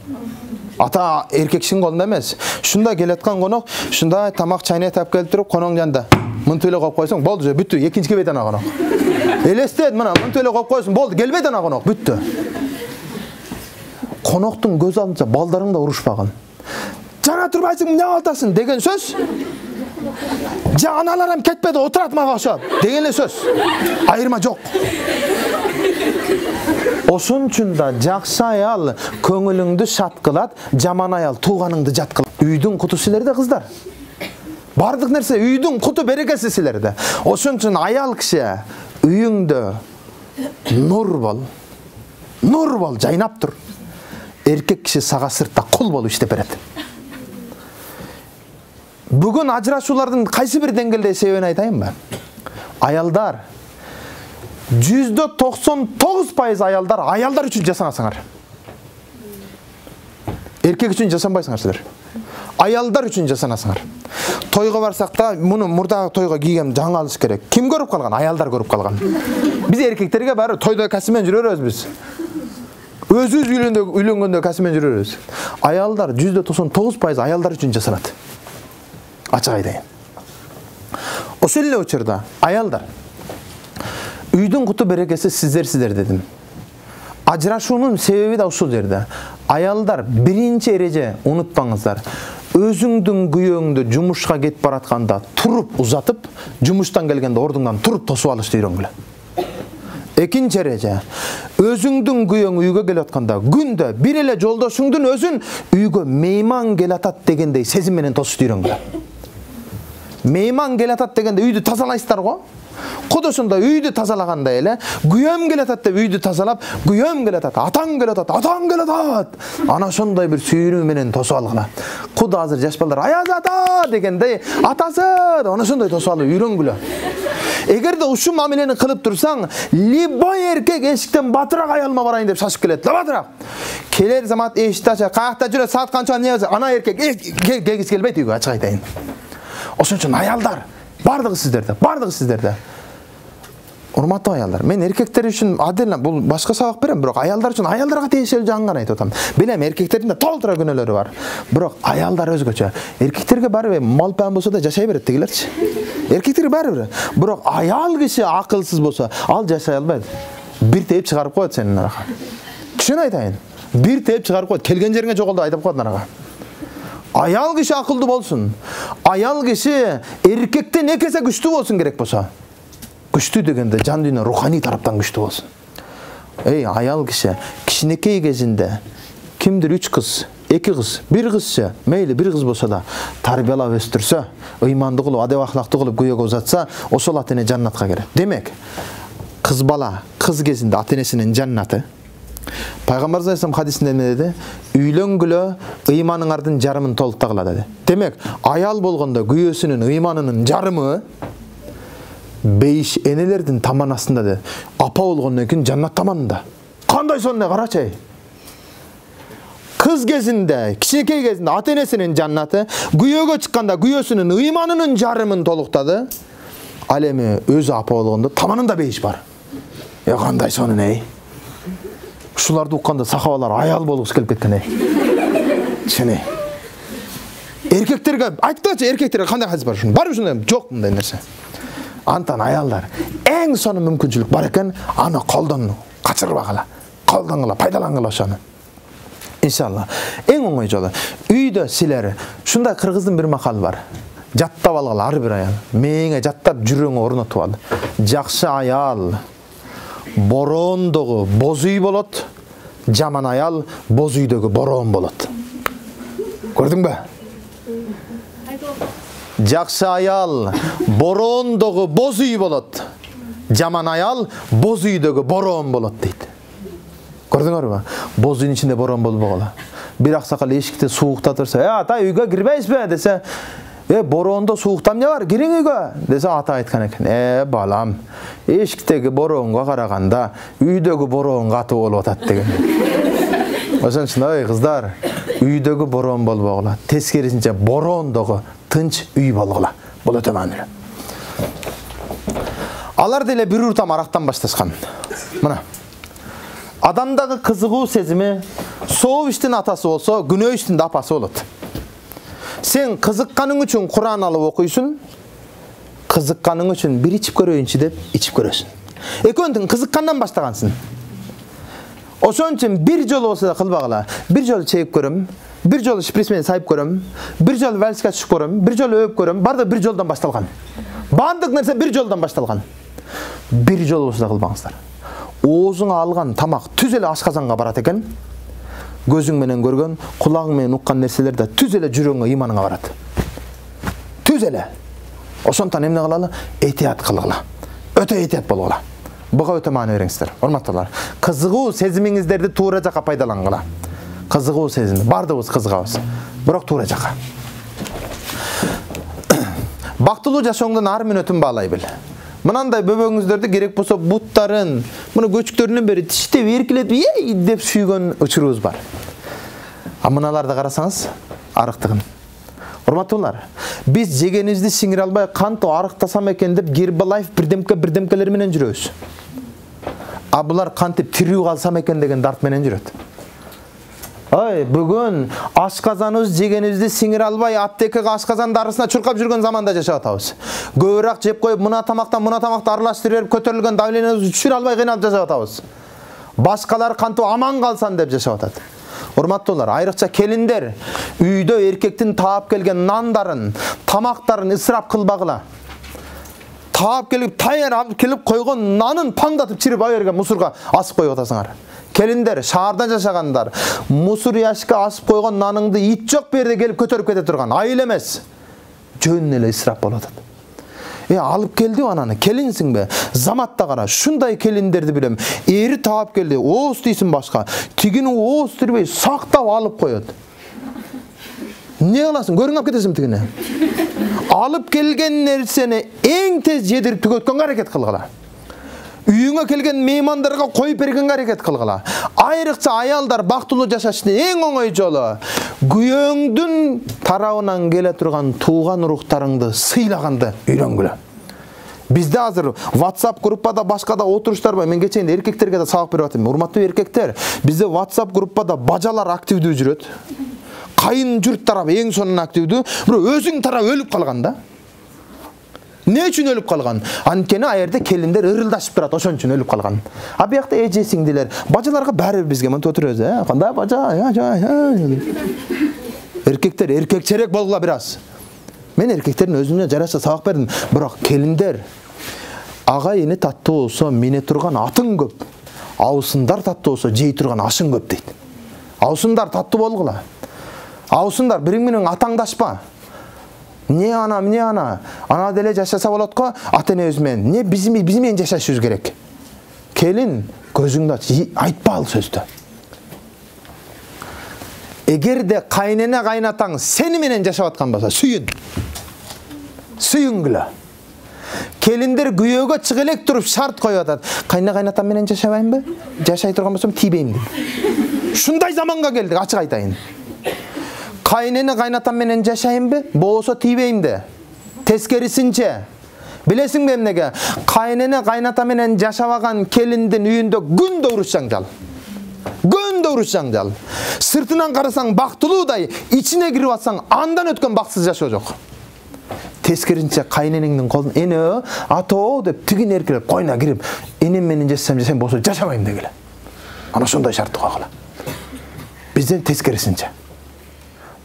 S1: Ата эркекчинин колунда эмес. Ушундай келаткан конок, ушундай тамак чайнап тап келип туруп, коноң жанында мынтип эле коюп койсоң, болду же, бүттү, экинчи келбейт ана конок. Элестет, мына мынтип эле коюп койсоң, болду, келбейт ана конок, бүттү. Коноктун көз алдынча балдарың да урушпаган. Жана турбайсың, эмне кыласың деген сөз. Жа аналарым кетпеди, отурат мага ошо деген эле сөз. Айырма жок. Ошон үчүн да жакшы аял көңүлүңдү шат кылат, жаман аял тууганыңды жат кылат. Үйдүн куту силерде кыздар. Бардык нерсе үйдүн куту берекеси силерде. Ошон үчүн аял киши үйүңдө нур бол, жайнап тур. Эркек киши сага сыртта кул болуп иштеп берет. Бүгүн ажырашуулардын кайсы бир деңгээлде себебин айтайынбы? Аялдар 99% аялдар үчүн жасаңасыңар. Эркек үчүн жасанбайсыңар силер. Аялдар үчүн жасанасыңар. Тойго барсак да, муну мурдагы тойго кийген жаңы алыш керек. Ким көрүп калган? Аялдар көрүп калган. Биз эркектерге баары тойдо касымен жүрөрбүз биз. Өзүбүз үйлөнгөндө касымен жүрөрбүз. Аялдар 99% аялдар үчүн жасанат. Ачык айтайын. Ошол эле учурда аялдар үйдүн куту берекеси сиздер дедим. Ажырашуунун себеби да ушул жерде. Аялдар биринчи эреже унутпаңыздар. Өзүңдүн күйөөңдү жумушка кетип баратканда туруп узатып, жумуштан келгенде ордуңдан туруп тосуп алышты үйрөнгүлө. Экинчи эреже, өзүңдүн күйөөң үйгө келип атканда күндө бир эле жолдошуңдун өзүн үйгө мейман келатат дегендей сезим менен тосушту үйрөнгүлө. Мейман келатат дегенде үйдү тазалайсыздар го? Куд ошондой үйдү тазалагандай эле, күйөөм келатат деп үйдү тазалап, күйөөм келатат, атаң келатат. Ана ошондой бир сүйүүнү менен тосуп алгыла. Куд азыр жаш балдар аяз ата дегендей, атасы деп ошондой тосуп алып үйрөнгүлө. Эгерде ушул мамилени кылып турсаң, любой эркек эшиктен батыраак аялыма барайын деп шашып келет. Батыраак. Келер замат эшикти ачат, каякта жүрөт, саат канча не болсо, ана эркек кегиз келбейт үйгө, ачык айтайын. Ошон үчүн аялдар, бардыгы сиздерде. Урматтуу аялдар, мен эркектер үчүн отдельно бул башка сабак берем, бирок аялдар үчүн аялдарга тиешелүү жагын айтып атам. Билем, эркектердин да толтура күнөөлөрү бар. Бирок аялдар өзгөчө. Эркектерге баары малпан болсо да жашай берет дегилерчи. Эркектерге баары. Бирок аял киши акылсыз болсо, ал жашай албайт. Бир тээп чыгарып коет сенин арага. Түшүн айтайын. Бир тээп чыгарып коет, келген жериңе жокол деп айтып коет арага. Аял киши акылдуу болсун. Аял киши эркектен экесе күчтүү болсун керек болсо. Күчтүү дегенде жан дүйнө руханий тараптан күчтүү болсун. Аял киши кичинекей кезинде кимдир 3 кыз, 2 кыз, 1 кызчы, мейли 1 кыз болсо да тарбиялап өстүрсө, ыймандуу кылып, адеп ахлактуу кылып күйөөгө узатса, ошол ата-эне жаннатка кирет. Демек, кыз бала кыз кезинде ата-энесинин жаннаты. Пайгамбар саллаллаху хадисинде эмне деди? Үйлөнгүлө ыйманыңардын жарымын толуктагыла деди. Демек, аял болгондо күйөөсүнүн ыйманынын жарымы бейиш энелердин таманасында де. Апа болгондон кийин жаннат таманында. Кандай сонун карачы. Кыз кезинде, кичинекей кезинде ата-энесинин жаннаты, күйөөгө чыкканда күйөөсүнүн ыйманынын жарымын толуктады. Ал эми өзү апа болгондо таманында бейиш бар. Кандай сонун Ушуларды укканда сахабалар аял болгусу келип кеткен Чыны. Эркектерге айтпачы, эркектерге кандай хадис бар ушун? Бар ушундай жок мындай нерсе. Антан аялдар эң сонун мүмкүнчүлүк бар экен, аны колдон качырбагыла, колдонгула, пайдалангыла ошону. Иншалла. Эң оңой жолу. Үйдө силер ушундай кыргыздын бир макалы бар. Жаттап алгыла ар бир аял. Мээңе жаттап жүрөңө орнотуп ал. Жакшы аял бороондогу боз үй болот, жаман аял боз үйдөгү бороон болот. Көрдүңбү? Жакшы аял бороондогу боз үй болот, жаман аял боз үйдөгү бороон болот дейт. Көрдүңөрбү? Боз үйдүн ичинде бороон болбогула. Бир аксакал эшикти сууктап турса, ата үйгө кирбейсизби десе, бороондо сууктам эмне бар? Кириң үйгө десе, ата айткан экен. Балам, эшиктеги бороонго караганда үйдөгү бороон катуу болуп атат деген. Ошон үчүн кыздар, үйдөгү бороон болбогула. Тескерисинче бороондогу тынч үй болгула. Бул өтө маанилүү. Алар деле бир уртам арактан башташкан. Мына. Адамдагы кызыгуу сезими сооп иштин атасы болсо, күнөө иштин да апасы болот. Сен кызыкканың үчүн Кур'ан алып окуйсуң, кызыкканың үчүн бир ичип көрөйүнчү деп ичип көрөсүң. Экөөндүн кызыккандан баштагансың. Ошон үчүн бир жолу болсо да кылбагыла. Бир жолу чегип көрөм, бир жолу шприц менен сайып көрөм, бир жолу вальске түшүп көрөм, бир жолу өп көрөм. Бардыгы бир жолдон башталган. Баардык нерсе бир жолдон башталган. Бир жолу болсо да кылбаңыздар. Оозуңа алган тамак түз эле ашказанга барат экен. Көзүң менен көргөн, кулагың менен уккан нерселер да түз эле жүрөгүңө, ыйманыңа барат. Түз эле. Ошондон эмне кылалы? Этият кылгыла. Өтө этият болгула. Буга өтө маани бериңиздер. Урматтуулар, кызыгуу сезимиңиздерди туура жакка пайдалангыла. Кызыгуу сезим, бардыгыбыз кызыгабыз, бирок туура жакка. Бактылуу жашооңдун ар мүнөтүн баалай бил. Мынандай бөбөгүңүздөрдү керек болсо буттарын, муну көчүктөрүнөн бери тиштеп, эркилетип, ей деп сүйгөн учурубуз бар. А мыналарды карасаңыз, арыктыгын. Урматтуулар, биз жегенибизди сиңире албай кантип арыктасам экен деп Гербалайф бирдемкелер менен жүрөбүз. А булар кантип тирүү калсам экен деген дарт менен жүрөт. Ой, бүгүн ашказаныбыз жегенибизди сиңире албай аптекага ашказан дарысына чуркап жүргөн заманда жашап атабыз. Көбүрөөк жеп коюп, мына тамакты аралаштырып берип, көтөрүлгөн давлениябызды түшүрө албай кыйналып жашап атабыз. Башкалар кантип аман калсан деп жашап атат. Урматтуулар, айрыкча келиндер үйдө эркектин таап келген нандарын, тамактарын ысырап кылбагыла. Таап келип, таяр алып келип койгон нанын паңдатып чирип айерге мусорго асып коюп атасыңар. Келиндер, шаарда жашагандар, мусор ящикке асып койгон наныңды ит жок берде келип көтөрүп кете турган. Айыл эмес. Жөн эле ысырап болуп атат. Алып келди ананы, келинсиңби? Заматта кара, шундай келиндерди билем. Ери таап келди, ооз тийсин башка. Тигини ооз тирбей сактап алып коет. Не кыласың? Көрүңүп кетесиң тигини. Алып келген нерсени эң тез жедирип түгөткөнгө аракет кылгыла. Үйүңө келген меймандарга коюп бергенге аракет кылгыла. Айрыкча аялдар бактылуу жашаштын эң оңой жолу күйөөңдүн тарабынан келе турган тууган уруктарыңды сыйлаганды үйрөнгүлө. Бизде азыр WhatsApp группада башкада отуруштар бар. Мен кечен эркектерге да сабак берип атам. Урматтуу эркектер, бизде WhatsApp группада бажалар активдүү жүрөт. Кайын журт тарабы эң сонун активдүү, бирок өзүң тарап өлүп калган да. Не үчүн өлүп калган? Анткени аерде келиндер ырылдашып турат, ошон үчүн өлүп калган. А биякта эже сиңдилер, бажаларга баары бизге мынтип отурабыз, кандай бажа? Эркектер эркекчерээк болгула бир аз. Мен эркектердин өзүнө жараша сабак бердим, бирок келиндер ага эне таттуу болсо мине турган атың көп. Аусындар таттуу болсо жей турган ашың көп дейт. Аусындар таттуу болгула. Аусындар бириң менен атаңдашпа. Не ана, мне ана. Ана деле жашаса болот го, ата эне өзүмен. Не биз менен жашашыбыз керек. Келин, көзүңдү ач, айтпа ал сөздү. Эгерде кайнене кайнатаң сени менен жашап аткан болсо, сүйүн. Сүйүнгүлө. Келиндер күйөөгө чыга элек туруп шарт коюп атат. Кайнене кайнатам менен жашабайынбы? Жашай турган болсом тийбейм дейт. Шундай заманга келдик, ачык айтайын. Кайнене кайнатам менен жашайынбы? Болсо тийбейм де. Тескерисинче. Билесиңби эмнеге? Кайнене кайната менен жашабаган келиндин үйүндө күндө уруш жаңжал. Күндө уруш жаңжал. Сыртынан карасаң бактылуудай, ичине кирип атсаң андан өткөн бакытсыз жашоо жок. Тескерисинче кайненеңдин колун эне, атоо деп тигин эркелеп койуна кирип, энем менен жашасам болсо жашабайм дегиле. Ана ошондой шарт койгула. Бизден тескерисинче.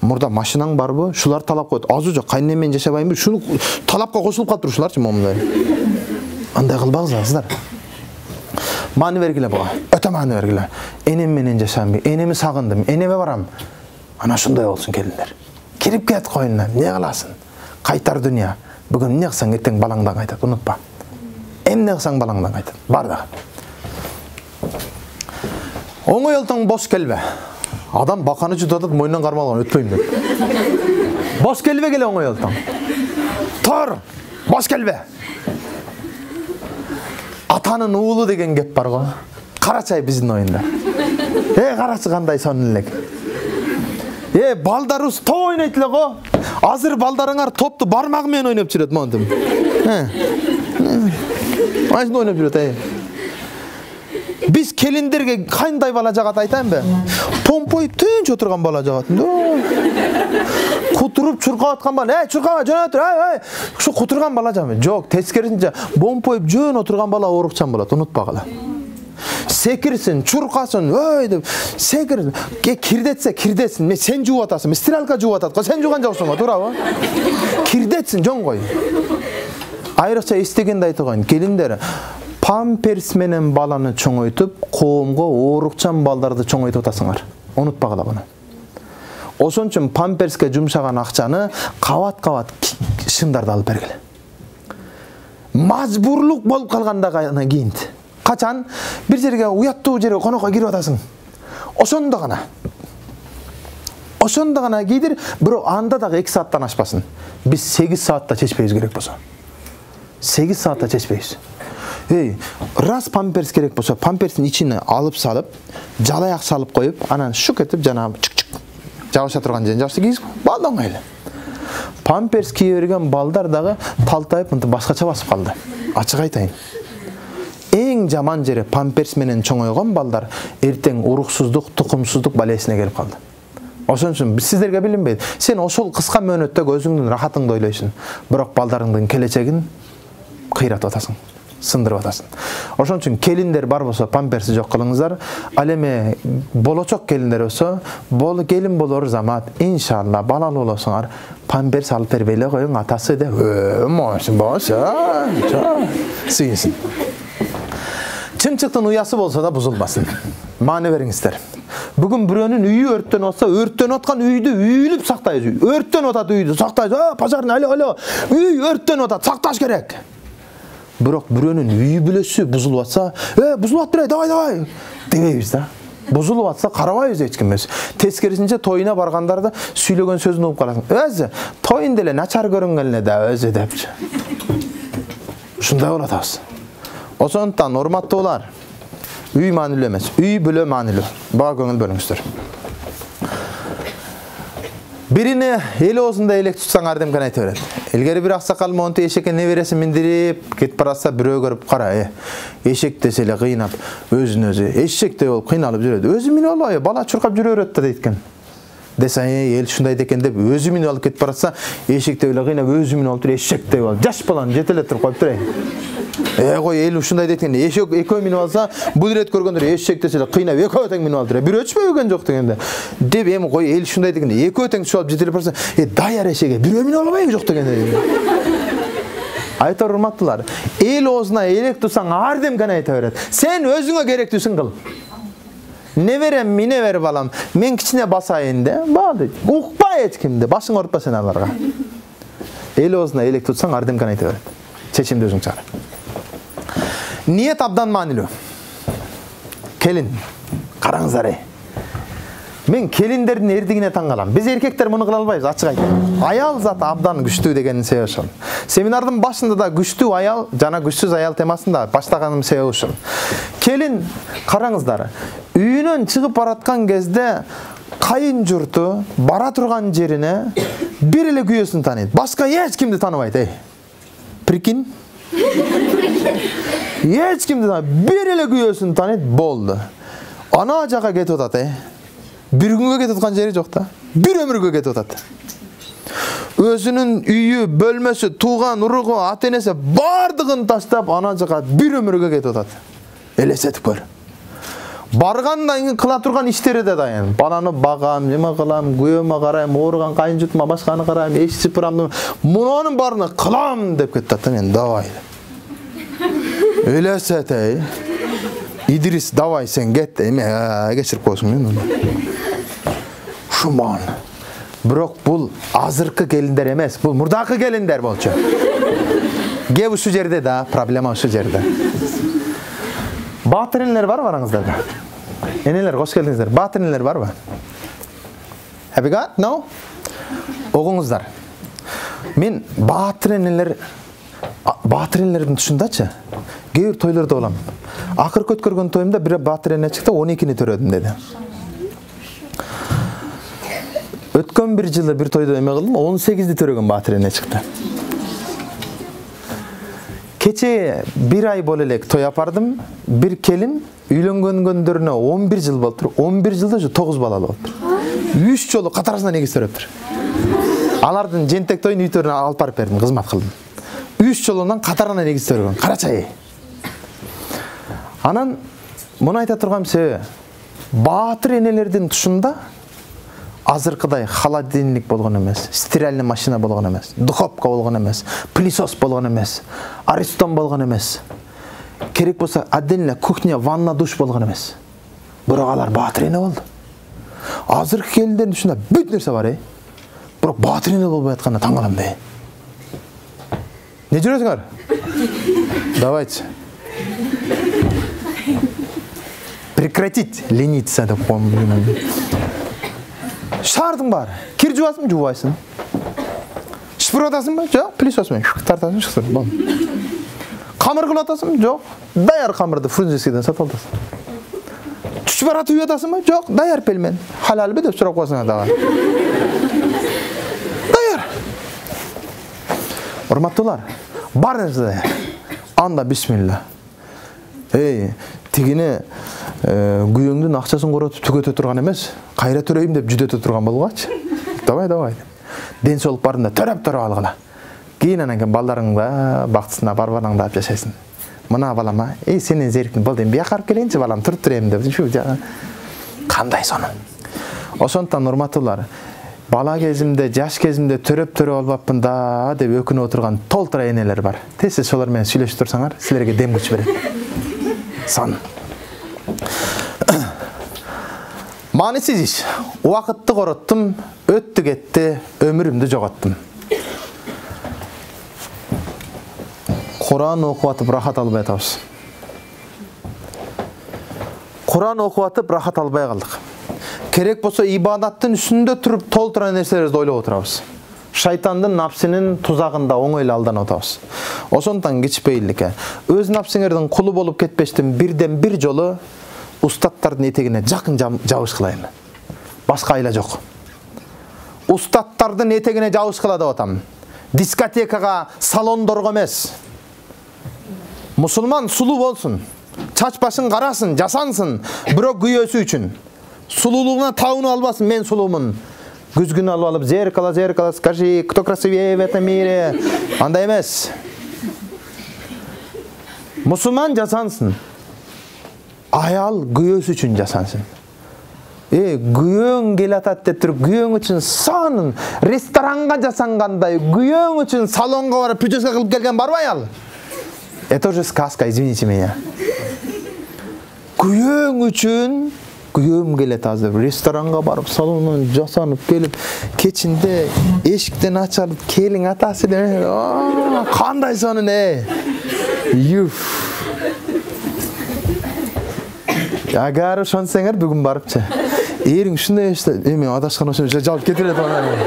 S1: Мурда машинаң барбы? Шулар талап коет. Азы жок, кайненем менен жашабайынбы? Шуну талапка кошулуп калып турушуларчы момундай. Андай кылбаңыздар. Маани бергиле буга. Өтө маани бергиле. Энем менен жашайм, энеми сагындым, энеме барам. Ана ошондой болсун келиндер. Кирип кет коюнуна, эмне кыласың? Кайтар дүйнө. Бүгүн эмне кылсаң эртең балаңдан кайтат, унутпа. Эмне кылсаң балаңдан кайтат. Бар да. Оңой олтоң бош келбе. Адам баканы жутатат, мойнунан кармалган өтпөйм деп. Бош келбе келе оңой олтоң. Тор, бош келбе. Атанын уулу деген кеп бар го. Карачай биздин оюнда. Карачы кандай сонун элек. Балдарыбыз топ ойнойт эле го. Азыр балдарыңар топту бармагы менен ойноп жүрөт монтип. Айсында ойноп жүрөт, Биз келиндерге кандай бала жагат айтайынбы? Помпой тынч отурган бала жагат. Кутуруп чуркап аткан бала. Чуркаба, жөн отур. Ушу кутурган бала жагат. Жок, тескерисинче помпойуп жөн отурган бала оорукчан болот, унутпагыла. Секирсин, чуркасын, деп, секирсин. Кирдетсе, кирдетсин. Сен жууп атасың, стиралка жууп атат го, сен жууган жоксуң го, туурабы? Кирдетсин, жон кой. Айрыкча эстегенди айтып коеюн, келиндер памперс менен баланы чоңойтуп, коомго оорукчан балдарды чоңойтуп атасыңар. Унутпагыла буну. Ошон үчүн памперске жумшаган акчаны кабат-кабат шымдарды алып бергиле. Мажбурлук болуп калганда гана кийинт. качан бир жерге уяттуу жерге конокко кирип атасың. Ошондо гана кийдир, бирок анда дагы 2 сааттан ашпасын. Биз 8 саатта чечпейбиз керек болсо. 8 саатта чечпейбиз. Раз памперс керек болсо, памперстин ичине алып салып, жалаяк салып коюп, анан шук этип жана жабыша турган жерин жабышты кийгиз, балда оңой. Памперс кие берген балдар дагы талтайып мынтип башкача басып калды. Ачык айтайын. Эң жаман жери памперс менен чоңойгон балдар эртең уруксуздук, тукумсуздук балесине келип калды. Ошон үчүн сиздерге билинбейт. Сен ошол кыска мөөнөттө өзүңдүн рахатыңды ойлойсуң, бирок балдарыңдын келечегин кыйратып атасың, сындырып атасың. Ошон үчүн келиндер бар болсо памперси жок кылыңыздар. Ал эми болочок келиндер болсо, келин болор замат, иншалла балалуу болосуңар, памперс алып бербей эле коюң атасы деп. Сыйсын. Чымчыктын уясы болсо да бузулбасын. Маани бериңиздер. Бүгүн бирөөнүн үйү өрттөнүп атса, өрттөнүп аткан үйдү үйлүп сактайбыз. Өрттөнүп атат үйдү, сактайбыз. Пожарный, алло, үй өрттөнүп атат, сакташ керек. Бирок бирөөнүн үйү бүлөсү бузулуп атса, бузулуп атты, давай дебейбиз да. Бузулуп атса карабайбыз эч кимбиз. Тескерисинче тоюна баргандарда сүйлөгөн сөзүн угуп каласың. Өзү тоюн деле начар көрүнгөн эле да өзү депчи. Ушундай болуп атабыз. Ошондуктан урматтуулар, үй маанилүү эмес, үй бүлө маанилүү. Буга көңүл бөлүңүздөр. Бирине эл оозунда элек тутсаң ардемкан айта берет. Илгери бир аксакал монту эшекке небересин миндирип кетип баратса, бирөө көрүп кара, эшек десе эле кыйнап, өзүн өзү эшектей болуп кыйналып жүрөт. Өзү минип албайбы, бала чуркап жүрө берет да дейт экен. Десе, эл ушундай экен деп өзү минип алып кетип баратса, эшектей эле кыйнап өзү минип алып туруп эшектей болуп, жаш баланы жетелеп туруп коюп турайын. Кой эл ушундай дейт экен. Эшек экөө минип алса, бул рет көргөндөр эшек десе эле кыйнап экөө тең минип алып туруп. Бирөө өчпөгөн жок дегенде. Деп эми кой эл ушундай дейт экен. Экөө тең түшүп алып жетелеп барса, даяр эшеге бирөө минип албайбы жок дегенде. Айтор урматтуулар, эл оозуна элек турсаң ардемкан айта берет. Сен өзүңө керектүүсүн кыл. Неберем, мине бер балам, мен кичине басайын де, баалы. Укпа эч кимди, башың ортпа сен аларга. Эл оозуна элек турсаң ардемкан айта берет. Чечимди өзүң чыгар. Ниет абдан маанилүү. Келин, караңыздар. Мен келиндердин эрдигине таң калам. Биз эркектер муну кыла албайбыз, ачык айтайын. Аял заты абдан күчтүү дегенин себеби ошол. Семинардын башында да күчтүү аял жана күчсүз аял темасында баштаганым себеби ошол. Келин, караңыздар. Үйүнөн чыгып бараткан кезде кайын журту бара турган жерине бир эле күйөөсүн тааныйт. Башка эч кимди тааныбайт, Прикинь? Эч кимди бир эле күйөөсүн тааныйт, болду. Ана жака кетип атат, Бир күнгө кетип аткан жери жок да. Бир өмүргө кетип атат. Өзүнүн үйү, бөлмөсү, тууган уругу, ата-энеси бардыгын таштап ана жака бир өмүргө кетип атат. Элестетип көр. Баргандан кийин кыла турган иштери да дайын. Баланы багам, неме кылам, күйөөмө карайм, ооруган кайын жутума башканы карайм, эч сыпырам, мунунун баарын кылам деп кетти да мен, давай. Элестет, Идрис, давай сен кет, эме кечирип койсуң мен. Шуман. Бирок бул азыркы келиндер эмес, бул мурдакы келиндер болчу. Кеп ушу жерде да, проблема ушу жерде. Баатыр энелер барбы араңыздарда? Энелер, кош келдиңиздер. Баатыр энелер барбы? Have you got? No? Огуңуздар. Мен баатыр энелердин тушундачы. Кээ бир тойлордо болом. Акыркы өткөргөн тоюмда бир баатыр эне чыкты, 12-ни төрөдүм деди. Өткөн бир жылы бир тойдо эме кылдым, 18-ди төрөгөн баатыр эне чыкты. Кече бир ай боло элек той апардым. Бир келин үйлөнгөнгөндөрүнө 11 жыл болуптур. 11 жылда ушу 9 балалуу болуптур. 3 жолу катарысынан эгиз төрөптүр. Алардын жентек тоюн үйтөрүнө алып барып бердим, кызмат кылдым. 3 жолунан катарынан эгиз төргөн. Карачай. Анан муну айта турган себеби, баатыр энелердин тушунда азыркыдай холодильник болгон эмес, стиральный машина болгон эмес, духовка болгон эмес, пылесос болгон эмес, аристон болгон эмес. Керек болсо отдельно кухня, ванна, душ болгон эмес. Бирок алар баатыр эне болду. Азыркы келиндердин тушунда бүт нерсе бар, Бирок баатыр эне болбой атканына таң калам, Не жүрөсүңөр? Давайте. прекратить лениться деп коем. Шаардың бар. Кир жуасың, жубайсың. Шпыр атасың ба? Жок, пылесосмен тартасың, шықты. Бол. Камыр кылатасың? Жок. Даяр камырды фрунзенскийден сатып аласың. Түш барат үй атасың ба? Жок, даяр пелмен. Халал бе деп сурап коесуң дагы. Даяр. Урматтуулар, барыңыз даяр. Анда бисмилла. Тигине күйөөңдүн акчасын коротуп түгөтө турган эмес, кайра төрөйм деп жүдөтө турган болгачы. Давай. Ден соолук барында төрөп алгыла. Кийин анан кийин балдарыңда бактысына барбанаңда жашайсың. Мына балама, сенин зерктин болду, эми бияка алып келейинчи балам, туруп турайм деп. Кандай сонун. Ошондон урматтуулар, бала кезимде, жаш кезимде төрөп албапмын да деп өкүнүп отурган толтура энелер бар. Тез шолар менен сүйлөшүп турсаңар, силерге дем күч берет. Сон. Маанисиз иш. Убакытты короттум, өттү кетти, өмүрүмдү жоготтум. Куран окуп атып рахат албай атабыз. Куран окуп атып рахат албай калдык. Керек болсо ибадаттын үстүндө туруп толтура нерселерди ойлоп отурабыз. Шайтандын напсинин тузагында оңойло алданып атабыз. Ошондон кичпейиликке өз напсиңердин кулу болуп кетпештин бирден бир жолу устаттардын этегине жакын жабышкылайын. Башка айла жок. Устаттардын этегине жабышкыла деп атам. Дискотекага, салондорго эмес. Мусулман сулуу болсун. Чач башын карасын, жасансын, бирок күйөөсү үчүн. Сулуулугуна табынып албасын, мен сулуумун. Күзгүн алып, зеркало, скажи, кто красивее в этом мире? Андай эмес. Мусулман жасансын. Аял күйөөсү үчүн жасансын. Күйөөң келатат деп туруп, күйөөң үчүн сонун ресторанга жасангандай, күйөөң үчүн салонго барып прическа кылып келген барбы аял? Это уже сказка, извините меня. Күйөөң үчүн күйөөм келет азыр ресторанга барып, салонун жасанып келип, кечинде эшиктен ачылып, келиң атасы деп, кандай сонун Агар ошонсеңер бүгүн барыпчы. Эриң ушундай эме адашкан ошо жалып кетирет аны.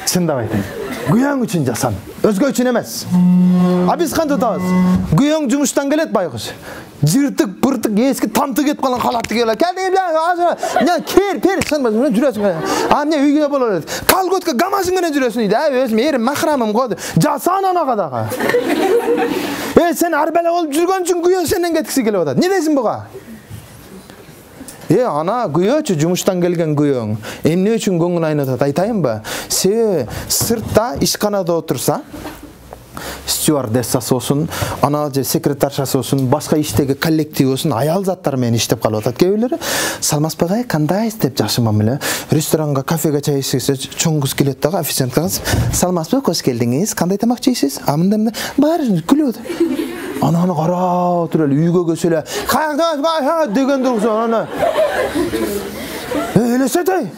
S1: Чындап айтайын. Күйөөң үчүн жасан, өзгө үчүн эмес. Биз кантип атабыз? Күйөөң жумуштан келет байкуш. Жыртык, быртык, эски тамты кетип калган халатты келет. Кер, чынбы, жүрөсүң. Эмне үйгө болот. Колготка гамашың менен жүрөсүң дейт. Өзүм эрим махрамым го. Жасан анага дагы. Сен ар бала болуп жүргөн үчүн күйөө сенден кеткиси келип атат. Не дейсиң буга? Ана күйөөчү жумуштан келген күйөөң. Эмне үчүн көңүл айнатат айтайынбы? Себеби сыртта ишканада отурса, стюардессасы болсун, ана же секретаршасы болсун, башка иштеги коллектив болсун, аял заттар менен иштеп калып атат кээ-бирлери. Салмасбек кандайсыз деп жакшымам эле. Ресторанга, кафеге чай ичсе чоң кыз келет дагы, официантка Салмасбек кош келдиңиз, кандай тамак жейсиз? Мындай бар күлүп атат. Ананы карап отуруп эле үйгө көсө эле деген тургузон аны. Элестетей.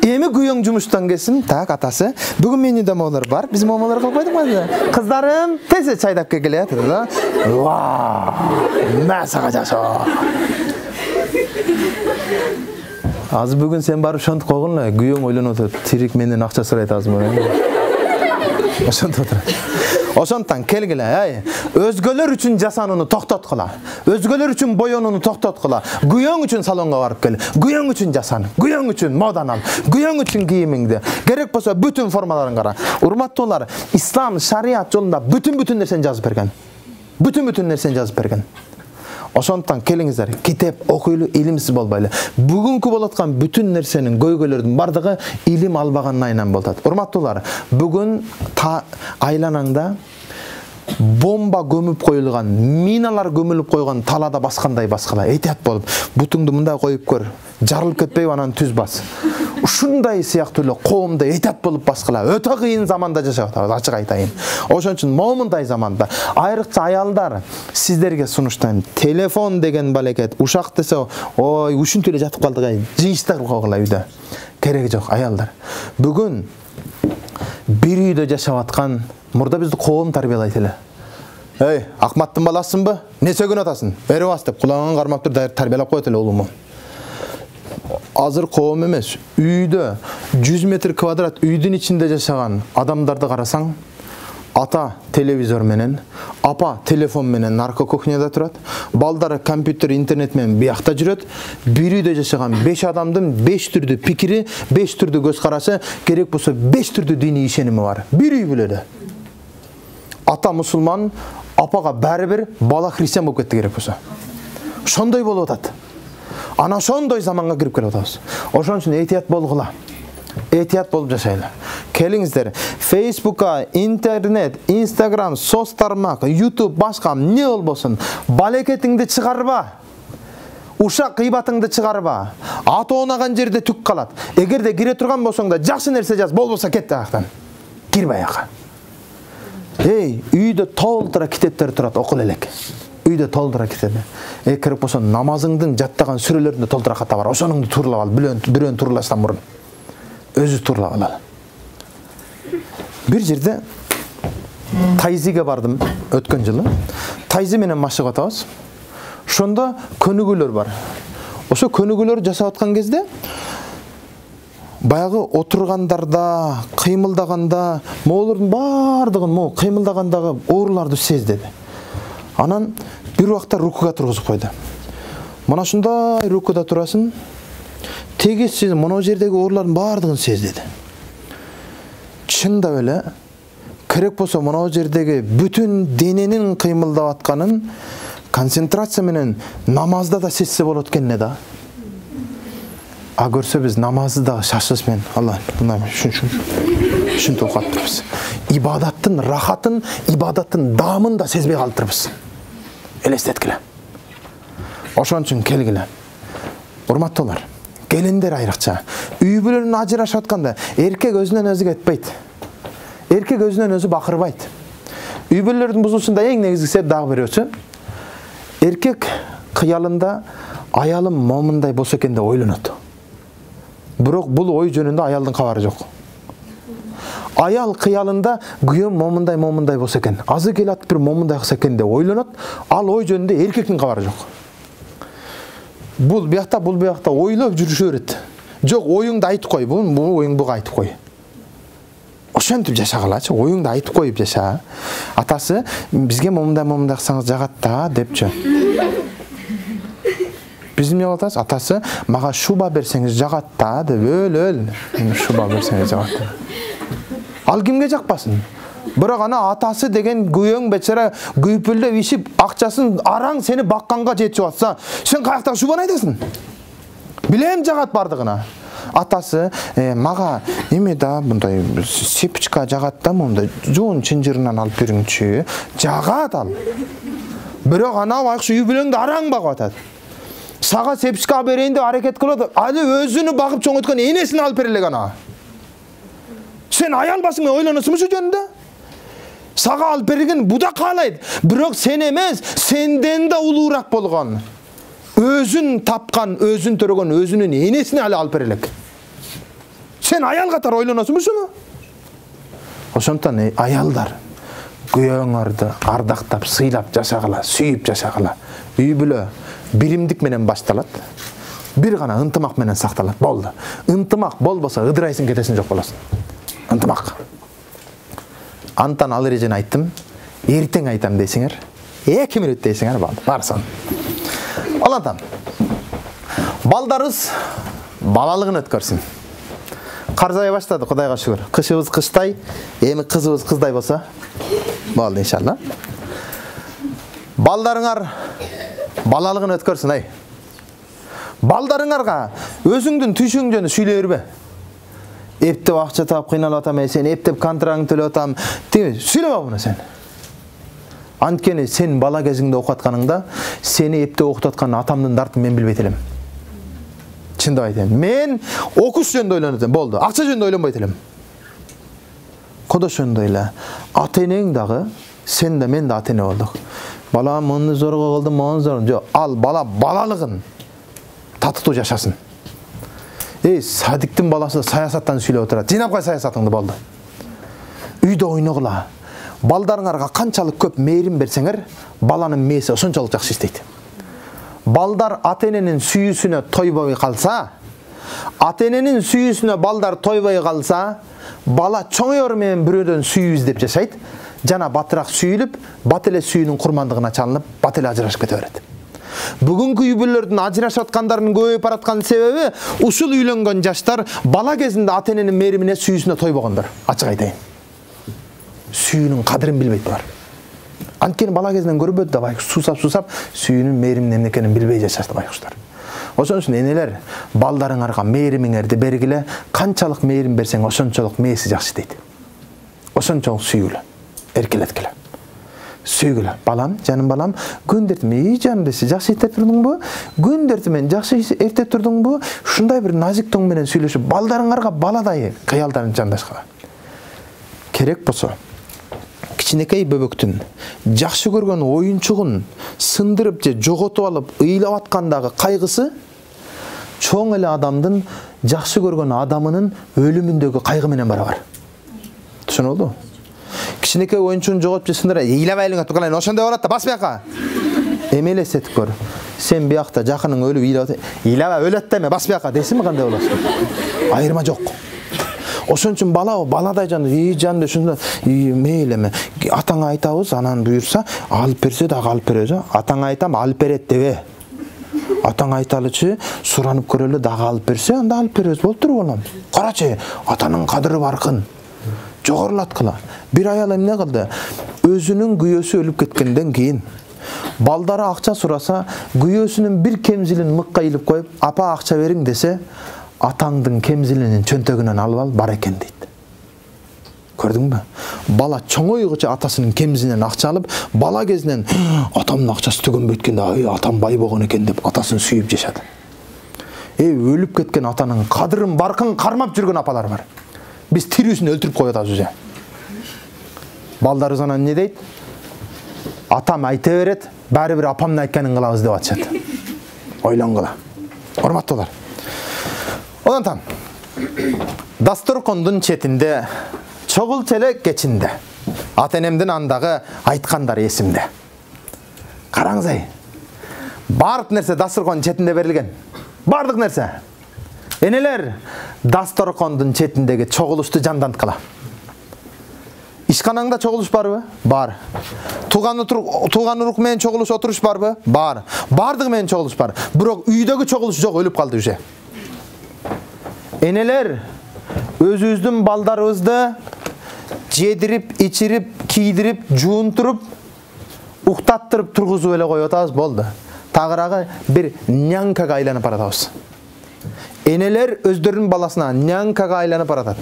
S1: Эми күйөөң жумуштан келсин, так атасы. Бүгүн менин домолор бар. Биз момолор кылып койдук. Кыздарым, тез чайдап келет да. Масага жашоо. Азыр бүгүн сен барып ошентип койгон эле, күйөөң ойлонуп атат. Тирик менден акча сурайт азыр. Ошентип атат. Ошондон келгиле, өзгөлөр үчүн жасанууну токтоткула. Өзгөлөр үчүн боёнууну токтоткула. Күйөөң үчүн салонго барып кел. Күйөөң үчүн жасан. Күйөөң үчүн модан ал. Күйөөң үчүн кийимиңди. Керек болсо бүтүн формаларын кара. Урматтуулар, ислам шариат жолунда бүтүн нерсени жазып берген. Бүтүн нерсени жазып берген. Ошондон келиңиздер, китеп окуйлу, илимсиз болбойлу. Бүгүнкү болуп аткан бүтүн нерсенин, көйгөйлөрдүн бардыгы илим албагандан айынан болуп атат. Урматтуулар, бүгүн айланаңда бомба көмүп коюлган, миналар көмүлүп койгон талаада баскандай баскыла. Этият болуп, бутуңду мындай коюп көр, жарылып кетпейби анан түз бас. Ушундай сыяктуу эле коомдо этият болуп баскыла. Өтө кыйын заманда жашап атабыз, ачык айтайын. Ошон үчүн момундай заманда айрыкча аялдар сиздерге сунуштайм. Телефон деген балекет, ушак десе, ой, ушинтип эле жатып калдык, жыйышта кылып койгула үйдө. Кереги жок, аялдар. Бүгүн бир үйдө жашап аткан, мурда бизди коом тарбиялайт эле. Эй, Акматтын баласынбы? Не сөгүн атасың? Бери бас деп кулагын кармап тур, тарбиялап коет эле улуму. Азыр коом эмес, үйдө 100 метр квадрат үйдүн ичинде жашаган адамдарды карасаң, ата телевизор менен, апа телефон менен наркокухняда турат, балдары компьютер, интернет менен биякта жүрөт. Бир үйдө жашаган 5 адамдын 5 түрдүү пикири, 5 түрдүү көз карашы, керек болсо 5 түрдүү диний ишеними бар. Бир үй бүлөдө. Ата мусулман, апага бәрібір бала христиан болып кетті керек болса. Ошондой болуп атат. Ана ошондой заманга кирип келип атабыз. Ошон үчүн этият болгула. Этият болуп жашайлы. Келиңиздер, Facebook'a, интернет, Instagram, соц тармак, YouTube, башка не болбосун, балекетиңди чыгарба. Ушак кыйбатыңды чыгарба. Аты оонаган жерде түк калат. Эгерде кире турган болсоң да жакшы нерсе жаз, болбосо кет аяктан. Кирбе аяка. Эй, үйдө толтура китептер турат, окул элек. Үйдө толтура китеп. Керек болсо намазыңдын жаттаган сүрөлөрүндө толтура ката бар. Ошонуңду турлап ал, бирөөнү турлаштан мурун. Өзү турлап ал. Бир жерде Тайзиге бардым өткөн жылы. Тайзи менен машыгып атабыз. Ошондо көнүгүүлөр бар. Ошо көнүгүүлөр жасап аткан кезде баягы отургандарда, кыймылдаганда, моолордун бардыгын мо кыймылдагандагы ооруларды сездеди. Анан бир убакта рукуга тургузуп койду. Мына ушундай рукуда турасың, тегиз сиз моно жердеги оорулардын бардыгын сездеди. Чындап эле керек болсо моно жердеги бүтүн дененин кыймылдап атканын концентрация менен намазда да сезсе болот экенне да. А көрсө биз намазды дагы шашылыш менен Алла мына ушинтип окуп атырбыз. Ибадаттын рахатын, ибадаттын даамын да сезбей калдырбыз. Элестеткиле. Ошон үчүн келгиле. Урматтуулар, келиндер айрыкча. Үй бүлөнүн ажырашып атканда эркек өзүнөн өзү кетпейт. Эркек өзүнөн өзү бакырбайт. Үй бүлөлөрдүн бузулушунда эң негизги себеп дагы бирөөсү. Эркек кыялында аялым момундай болсо экен деп ойлонот. Бирок бул ой жөнүндө аялдын кабары жок. Аял кыялында күйөөм момундай болсо экен, азыр келат бир момундай кылса экен деп ойлонот, ал ой жөнүндө эркектин кабары жок. Бул биякта ойлоп жүрүшө берет. Жок, оюңду айтып кой, бул оюң буга айтып кой. Ошентип жашагалачы, оюңду айтып коюп жаша. Атасы бизге момундай кылсаңыз жагат да депчи. Биз эмне кылабыз? Атасы мага шуба берсеңиз жагат да деп өл. Шуба берсеңиз жагат. Ал кимге жакпасын? Бирок ана атасы деген күйөөң бечара күйпүлдөп ишип, акчасын араң сени бакканга жетип атса, сен каяктагы шубаны айтасың? Билем жагат бардыгына. Атасы мага эме да мындай сепичка жагат да, мындай жоон чынжырынан алып бериңчи. Жагат ал. Бирок ана байкуш үй бүлөңдү араң багып атат. Сага сепичка берейин деп аракет кылып, али өзүнү багып чоңойткон энесин алып бере элек ана. Сен аял башыңа ойлоносуңбу шу жөнүндө? Сага алып берген буда каалайт, бирок сен эмес, сенден да улуураак болгон. Өзүн тапкан, өзүн төрөгөн өзүнүн энесине али алып бере элек. Сен аял катары ойлоносуңбу шуну? Ошондон аялдар күйөөңөрдү ардактап, сыйлап жашагыла, сүйүп жашагыла. Үй бүлө биримдик менен башталат. Бир гана ынтымак менен сакталат. Болду. Ынтымак болбосо ыдырайсың, кетесиң, жок болосуң. Ынтымак. Антан ал эрежени айттым. Эртең айтам дейсиңер. 2 мүнөт дейсиңер, болду. Барсын. Алантан. Балдарыбыз балалыгын өткөрсүн. Карзай баштады, Кудайга шүгүр. Кышыбыз кыштай, эми кызыбыз кыздай болсо болду иншалла. Балдарыңар балалыгын өткөрсүн, ай. Балдарыңарга өзүңдүн түшүң жөнүндө сүйлөй бербе. Эптеп акча таап кыйналып атам, сен эптеп контрагыңды төлөп атам. Сүйлөбө муну сен. Анткени сен бала кезиңде окуп атканыңда сени эптеп окутуп аткан атамдын дартын мен билбейт элем. Чындап айтайын. Мен окуш жөнүндө ойлонот элем, болду. Акча жөнүндө ойлонбойт элем. Кодо жөнүндө эле. Ата-энең дагы, сен да мен да ата-эне болдук. Бала муну зорго кылдым, мону зорго. Жок, ал бала балалыгын татыктуу жашасын. Садиктин баласы саясаттан сүйлөп отурат. Жыйнап кой саясатыңды, болду. Үйдө ойногула. балдарыңарга канчалык көп мээрим берсеңер, баланын мээси ошончолук жакшы иштейт. Балдар ата-эненин сүйүүсүнө тойбой калса, ата-эненин сүйүүсүнө балдар тойбой калса, бала чоңойор менен бирөөдөн сүйүү издеп жашайт, жана батыраак сүйүлүп, бат эле сүйүүнүн курмандыгына чалынып, бат эле ажырашып кете берет. Бүгүнкү үй бүлөлөрдүн ажырашып аткандарынын көбөйүп бараткан себеби ушул үйлөнгөн жаштар бала кезинде ата-эненин мээримине, сүйүүсүнө тойбогондор. Ачык айтайын. Сүйүүнүн кадырын билбейт булар. Анткени бала кезинен көрбөдү да байкуш суусап сүйүүнүн мээримин эмне экенин билбей жашашты байкуштар. Ошон үчүн энелер, балдарыңарга мээримиңерди бергиле, канчалык мээрим берсең ошончолук мээси жакшы дейт. Ошончолук сүйгүлө, эркелеткиле. Сүйгүлө. Балам, жаным балам, күн эртең жаным десе, жакшы эртеп турдуңбу? Күн эртең жакшы эртеп турдуңбу? Ушундай бир назик тоң менен сүйлөшүп, балдарыңарга баладай кыялдарын жандашкыла. Керек болсо, кичинекей бөбөктүн жакшы көргөн оюнчугун сындырып же жоготуп алып, ыйлап аткандагы кайгысы чоң эле адамдын жакшы көргөн адамынын өлүмүндөгү кайгы менен барабар. Түшүнүлдү? Кичинекей оюнчугун жоготуп же сындырып, ыйлабайлы турган, ошондой болот да, бас бияка. Эме элестетип көр. Сен биякта жакының өлүп ыйлаба өлөт деме, бас бияка десиңби кандай болосуң? Айырма жок. Ошон үчүн бала баладай жанды, жанды ушунда мейлеме. Атаңа айтабыз, анан буйрса, алып берсе дагы алып беребиз. Атаңа айтам, алып берет дебе. Атаңа айталычы, суранып көрөлү, дагы алып берсе, анда алып беребиз. Болуп туруп балам. Карачы, атанын кадыры баркын. Жогорулаткыла. Бир аял эмне кылды? Өзүнүн күйөөсү өлүп кеткенден кийин балдары акча сураса, күйөөсүнүн бир кемзилин мыкка илип коюп, апа акча бериң десе, атаңдын кемзилинин чөнтөгүнөн алып ал, бар экен дейт. Көрдүңбү? Бала чоңойгуча атасынын кемзинен акча алып, бала кезинен атамдын акчасы төгөнбөйт экен да, атам бай болгон экен деп атасын сүйүп жашады. Өлүп кеткен атанын кадырын баркын кармап жүргөн апалар бар. Биз тирүүсүн өлтүрүп коюп атабыз уже. Балдарыбыз анан эмне дейт? Атам айта берет, баары бир апамдын айтканын кылабыз деп атышат. Ойлонгула. Урматтуулар. Одан дасторкондун четинде, чогул челек кечинде, ата-энемдин андагы айткандары эсимде. Караңыз, бардык нерсе дасторкондун четинде берилген. Бардык нерсе. Энелер, дасторкондун четиндеги чогулушту жанданткыла. Ишканаңда чогулуш барбы? Бар. Тууган урук менен чогулуш отуруш барбы? Бар. Бардыгы менен чогулуш бар. Бирок үйдөгү чогулуш жок, өлүп калды уже. Энелер, өзүбүздүн балдарыбызды жедирип, ичирип, кийдирип, жуунтуруп, уктаттырып тургузуп эле коюп атабыз, болду. Тагыраагы бир нянкага айланып баратабыз. Энелер өздөрүнүн баласына нянкага айланып баратат.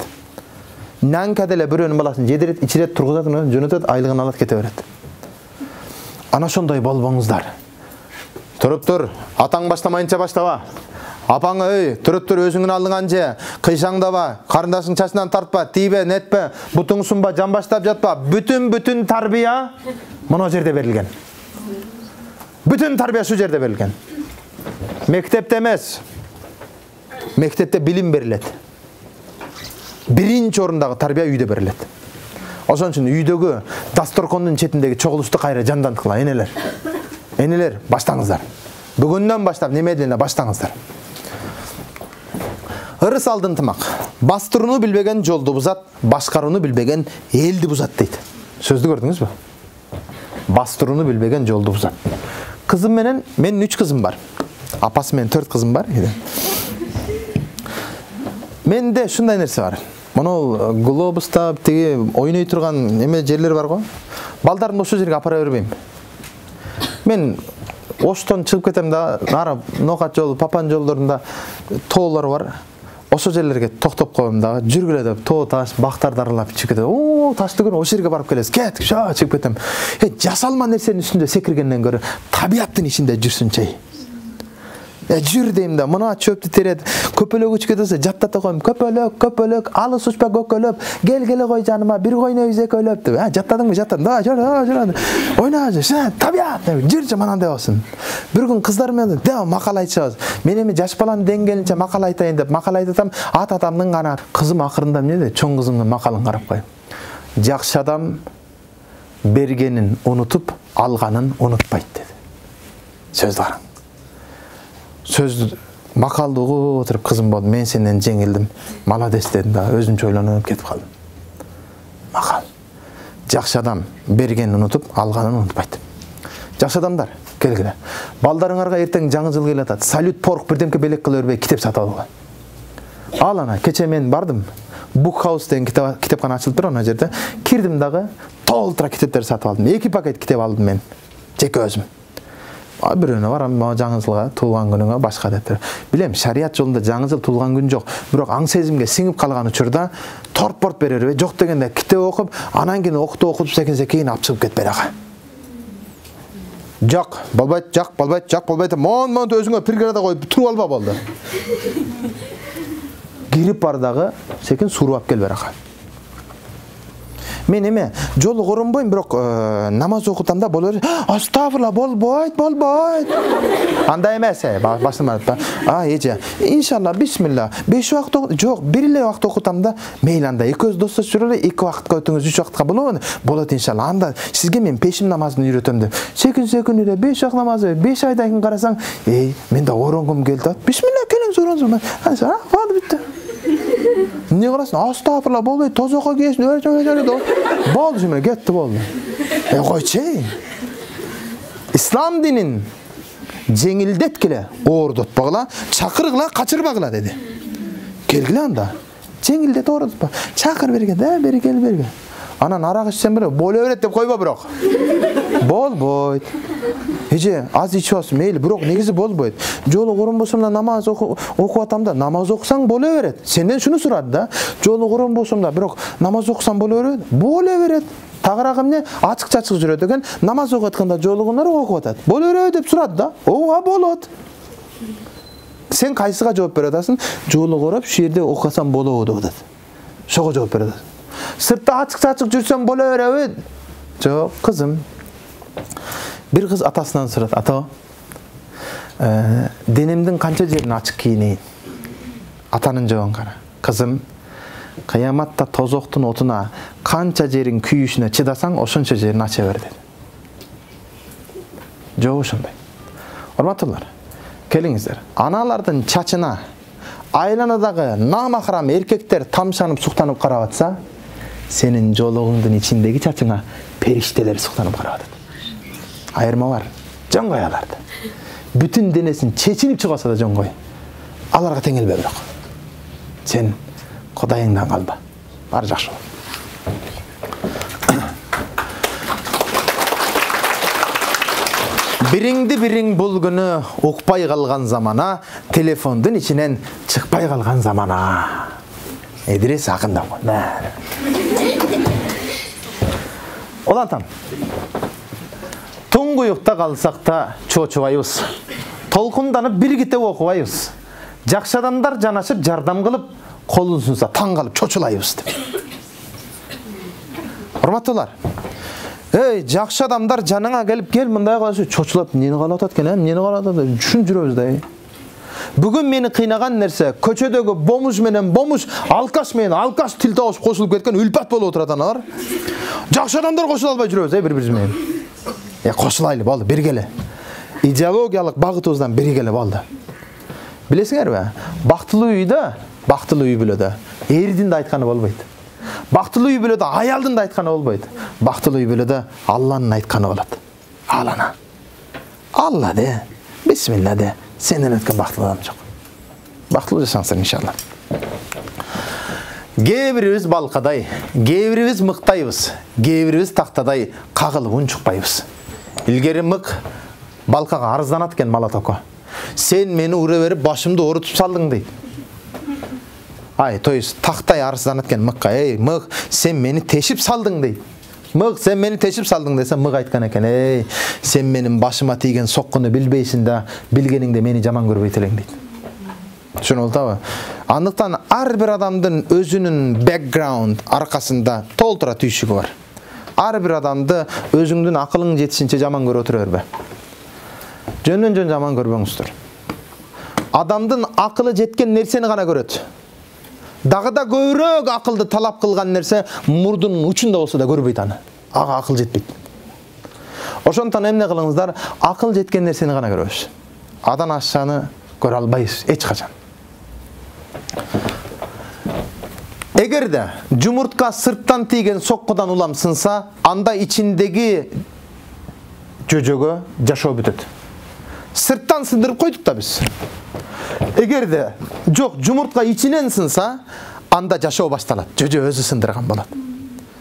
S1: Нянка деле бирөөнүн баласын жедирет, ичирет, тургузат, жөнөтөт, айлыгын алат, кете берет. Ана ошондой болбоңуздар. Туруп, атаң баштамайынча баштаба. Апаң туруп өзүңүн алдыңан же, кыйшаңдаба, карындашың чачынан тартпа, тийбе, нетпе, бутуң сунба, жамбаштап жатпа. Бүтүн тарбия мына жерде берилген. Бүтүн тарбия шу жерде берилген. Мектепте эмес. Мектепте билим берилет. Биринчи орундагы тарбия үйдө берилет. Ошон үчүн үйдөгү дасторкондун четиндеги чогулушту кайра жанданткыла, энелер. Энелер, баштаңыздар. Бүгүндөн баштап немеден баштаңыздар. Ырыс алдын тымак. Бастырууну билбеген жолду бузат, башкарууну билбеген элди бузат дейт. Сөздү көрдүңүзбү? Бастырууну билбеген жолду бузат. Кызым менен, менин 3 кызым бар. Апасы менен 4 кызым бар. Менде шундай нерсе бар. Мону глобуста тиги ойной турган эме жерлер бар го. Балдарды ошол жерге апара бербейм. Мен Оштон чыгып кетем да, нара Нокат жолу, Папан жолдорунда тоолор бар. Ошол жерлерге токтоп коем да, жүргүлө деп, тоо таш, бактарды аралап чыгып кетем. Оо, ташты көрүп, ошол жерге барып келесиз. Кет, чыгып кетем. Жасалма нерсенин үстүндө секиргенден көрө, табияттын ичинде жүрсүнчү. Жүр дейм да, мына чөптү терет, көпөлөк үчкө десе жаттата коем. Көпөлөк, алыс учпа көкөлөп, келгеле кой жаныма, бир койнойбуз экөөлөп деп. Жаттадыңбы? Жаттадым. Да, жөр. Ойна, табият, жүрчү мана деп болсун. Бир күн кыздар менен да макал айтышабыз. Мен эми жаш баланын деңгээлинче макал айтайын деп макал айтатам. Атамдын гана кызым акырында эмне дейт? Чоң кызымдын макалын карап коем. Жакшы адам бергенин унутуп, алганын унутпайт dedi. Сөздү караң. Сөз макалды угуп отуруп, кызым болду, мен сенден жеңилдим, молодец дедим да, өзүмчө ойлонуп кетип калдым. Макал. Жакшы адам бергенин унутуп, алганын унутпайт. Жакшы адамдар, келгиле. Балдарыңарга эртең жаңы жыл келатат. Салют порк бирдемке белек кыла бербей китеп сатып алгыла. Ал ана, кече мен бардым. Book House деген китепкана ачылып тур, ана жерде. Кирдим дагы, толтура китептер сатып алдым. 2 пакет китеп алдым мен. Жеке өзүм. Бирөөнө барам, жаңы жылга, туулган күнүңө башка дептер. Билем, шарият жолунда жаңы жыл туулган күн жок. Бирок аң сезимге сиңип калган учурда торт-порт берерби, жок дегенде китеп окуп, анан кийин окутуп секенсе кийин алып чыгып кетпей ага. Жок, болбойт. Мон өзүңө преграда коюп туруп алба болду. Кирип бар дагы, секин суруп алып кел бер ага. Мен эме жолу коронбойм, бирок намаз окутамда боло берет. Астагфирулла, болбойт. Андай эмес, башым айтпа. Эже, иншалла, бисмилла. 5 убакыт жок, бир эле убакыт окутамда, мейли анда экөөбүз достош жүрөлү, 2 убакытка өтүңүз, 3 убакытка болобу? Болот иншалла. Анда сизге мен пешим намазын үйрөтөм деп. Секин эле 5 убакыт намазы, 5 айдан кийин карасаң, мен да оронгум келди. Бисмилла, келиңиз ороңуз. Болду бүтү. Не кыласың? Астагфирулла, болбойт, тозокко кийесиң, болду жумеле, кетти болду. Койчу. Ислам динин жеңилдеткиле, оордотпагыла, чакыргыла, качырбагыла деди. Келгиле анда. Жеңилдет, оордотпа. Чакыр берген, берген. Анан арак ичсем беле, боло берет деп койбо бирок. Болбойт. Эже, аз ичип алсың, мейли, бирок негизи болбойт. Жолу коронбосом да намаз окуп атам да, намаз окусаң боло берет. Сенден шуну сурады да. Жолу коронбосом да, бирок намаз окусаң боло берет. Боло берет. Тагыраак эмне? Ачык-чачык жүрөт экен. Намаз окуп атканда жолугунар окуп атат. Боло берет деп сурады да. Ооба болот. Сен кайсыга жооп бере атасың? Жолу короп, шу жерде окусам болобу деп атат. Шого жооп бере атасың. Сыртта ачык-чачык жүрсөм боло береби? Жок, кызым. Bir kız atasından soradı. Ata, denimdin kança jerini açık kiyineyim? Atanın cevabını kara. Kızım, kıyamatta tozoktun otuna kança jerin kүйүшүнө çıdasan, oşunça jerini aça ver dedi. Cevabı şunday. Hormatlılar, keliңиздер. Analardın çaçına, aylanadagı namahram erkekler tamşanıp suktanyp karap atsa, senin jolugуңдун içindeki çaçına perişteler suktanyp karap atат. Айырма бар. Жон кой аларды. Бүтүн денесин чечинип чыгаса да жон кой. Аларга теңелбе бирок. Сен Кудайыңдан калба. Баары жакшы болот. Бириң бул күнү укпай калган замана, телефондун ичинен чыкпай калган замана. Эдирес акында го. Олантам. Туңгуюкта калсак да чочубайбыз. Толкунданып бир китеп окубайбыз. Жакшы адамдар жанашып жардам кылып, колун сунса таң калып чочулайбыз деп. Урматтуулар. Жакшы адамдар жаныңа келип, кел мындай кыласың, чочулап, эмнени калып атат экен, эмнени калып атат, түшүнүп жүрөбүз да. Бүгүн мени кыйнаган нерсе, көчөдөгү бомуш менен бомуш, алкаш менен алкаш тил табышып кошулуп кеткен үлпат болуп отурат аналар. Жакшы адамдар кошула албай жүрөбүз, бири-бириз менен. Кошулайлы болду, биргеле. Идеологиялык багытыбыздан биргеле болду. Билесиңерби? Бактылуу үйдө, бактылуу үй бүлөдө эрдин да айтканы болбойт. Бактылуу үй бүлөдө аялдын да айтканы болбойт. Бактылуу үй бүлөдө Алланын айтканы болот. Алана. Алла де, бисмилла де, сенден өткөн бактылуу адам жок. Бактылуу жашаңыздар иншалла. Кээ бирибиз балкадай, кээ бирибиз мыктайбыз, кээ бирибиз тактадай кагылып унчукпайбыз. Илгери мык балкага арызданат экен Малатоко. Сен мени ура берип башымды оорутуп салдың дейт. То есть тактай арызданат экен мыкка. Мык, сен мени тешип салдың дейт. Мык, сен мени тешип салдың десе, мык айткан экен. Сен менин башыма тийген соккуну билбейсиң да, билгениңде мени жаман көрбөйт элең дейт. Түшүнүп атабы? Андыктан ар бир адамдын өзүнүн бэкграунд аркасында толтура түйшүгү бар. Ар бир адамды өзүңдүн акылың жетишинче жаман көрө отура бербе. Жөн жаман көрбөңүздөр. Адамдын акылы жеткен нерсени гана көрөт. Дагы да көбүрөөк акылды талап кылган нерсе мурдунун учунда болсо да көрбөйт аны. ага акыл жетпейт. Ошондон эмне кылыңыздар, акыл жеткен нерсени гана көрөбүз. Адан ашчаны көрө албайбыз эч качан. Эгерде жумуртка сырттан тийген соккудан улам сынса, анда ичиндеги жөжөгө жашоо бүтөт. Сырттан сындырып койдук да биз. Эгерде жок, жумуртка ичинен сынса, анда жашоо башталат. Жөжө өзү сындырган болот.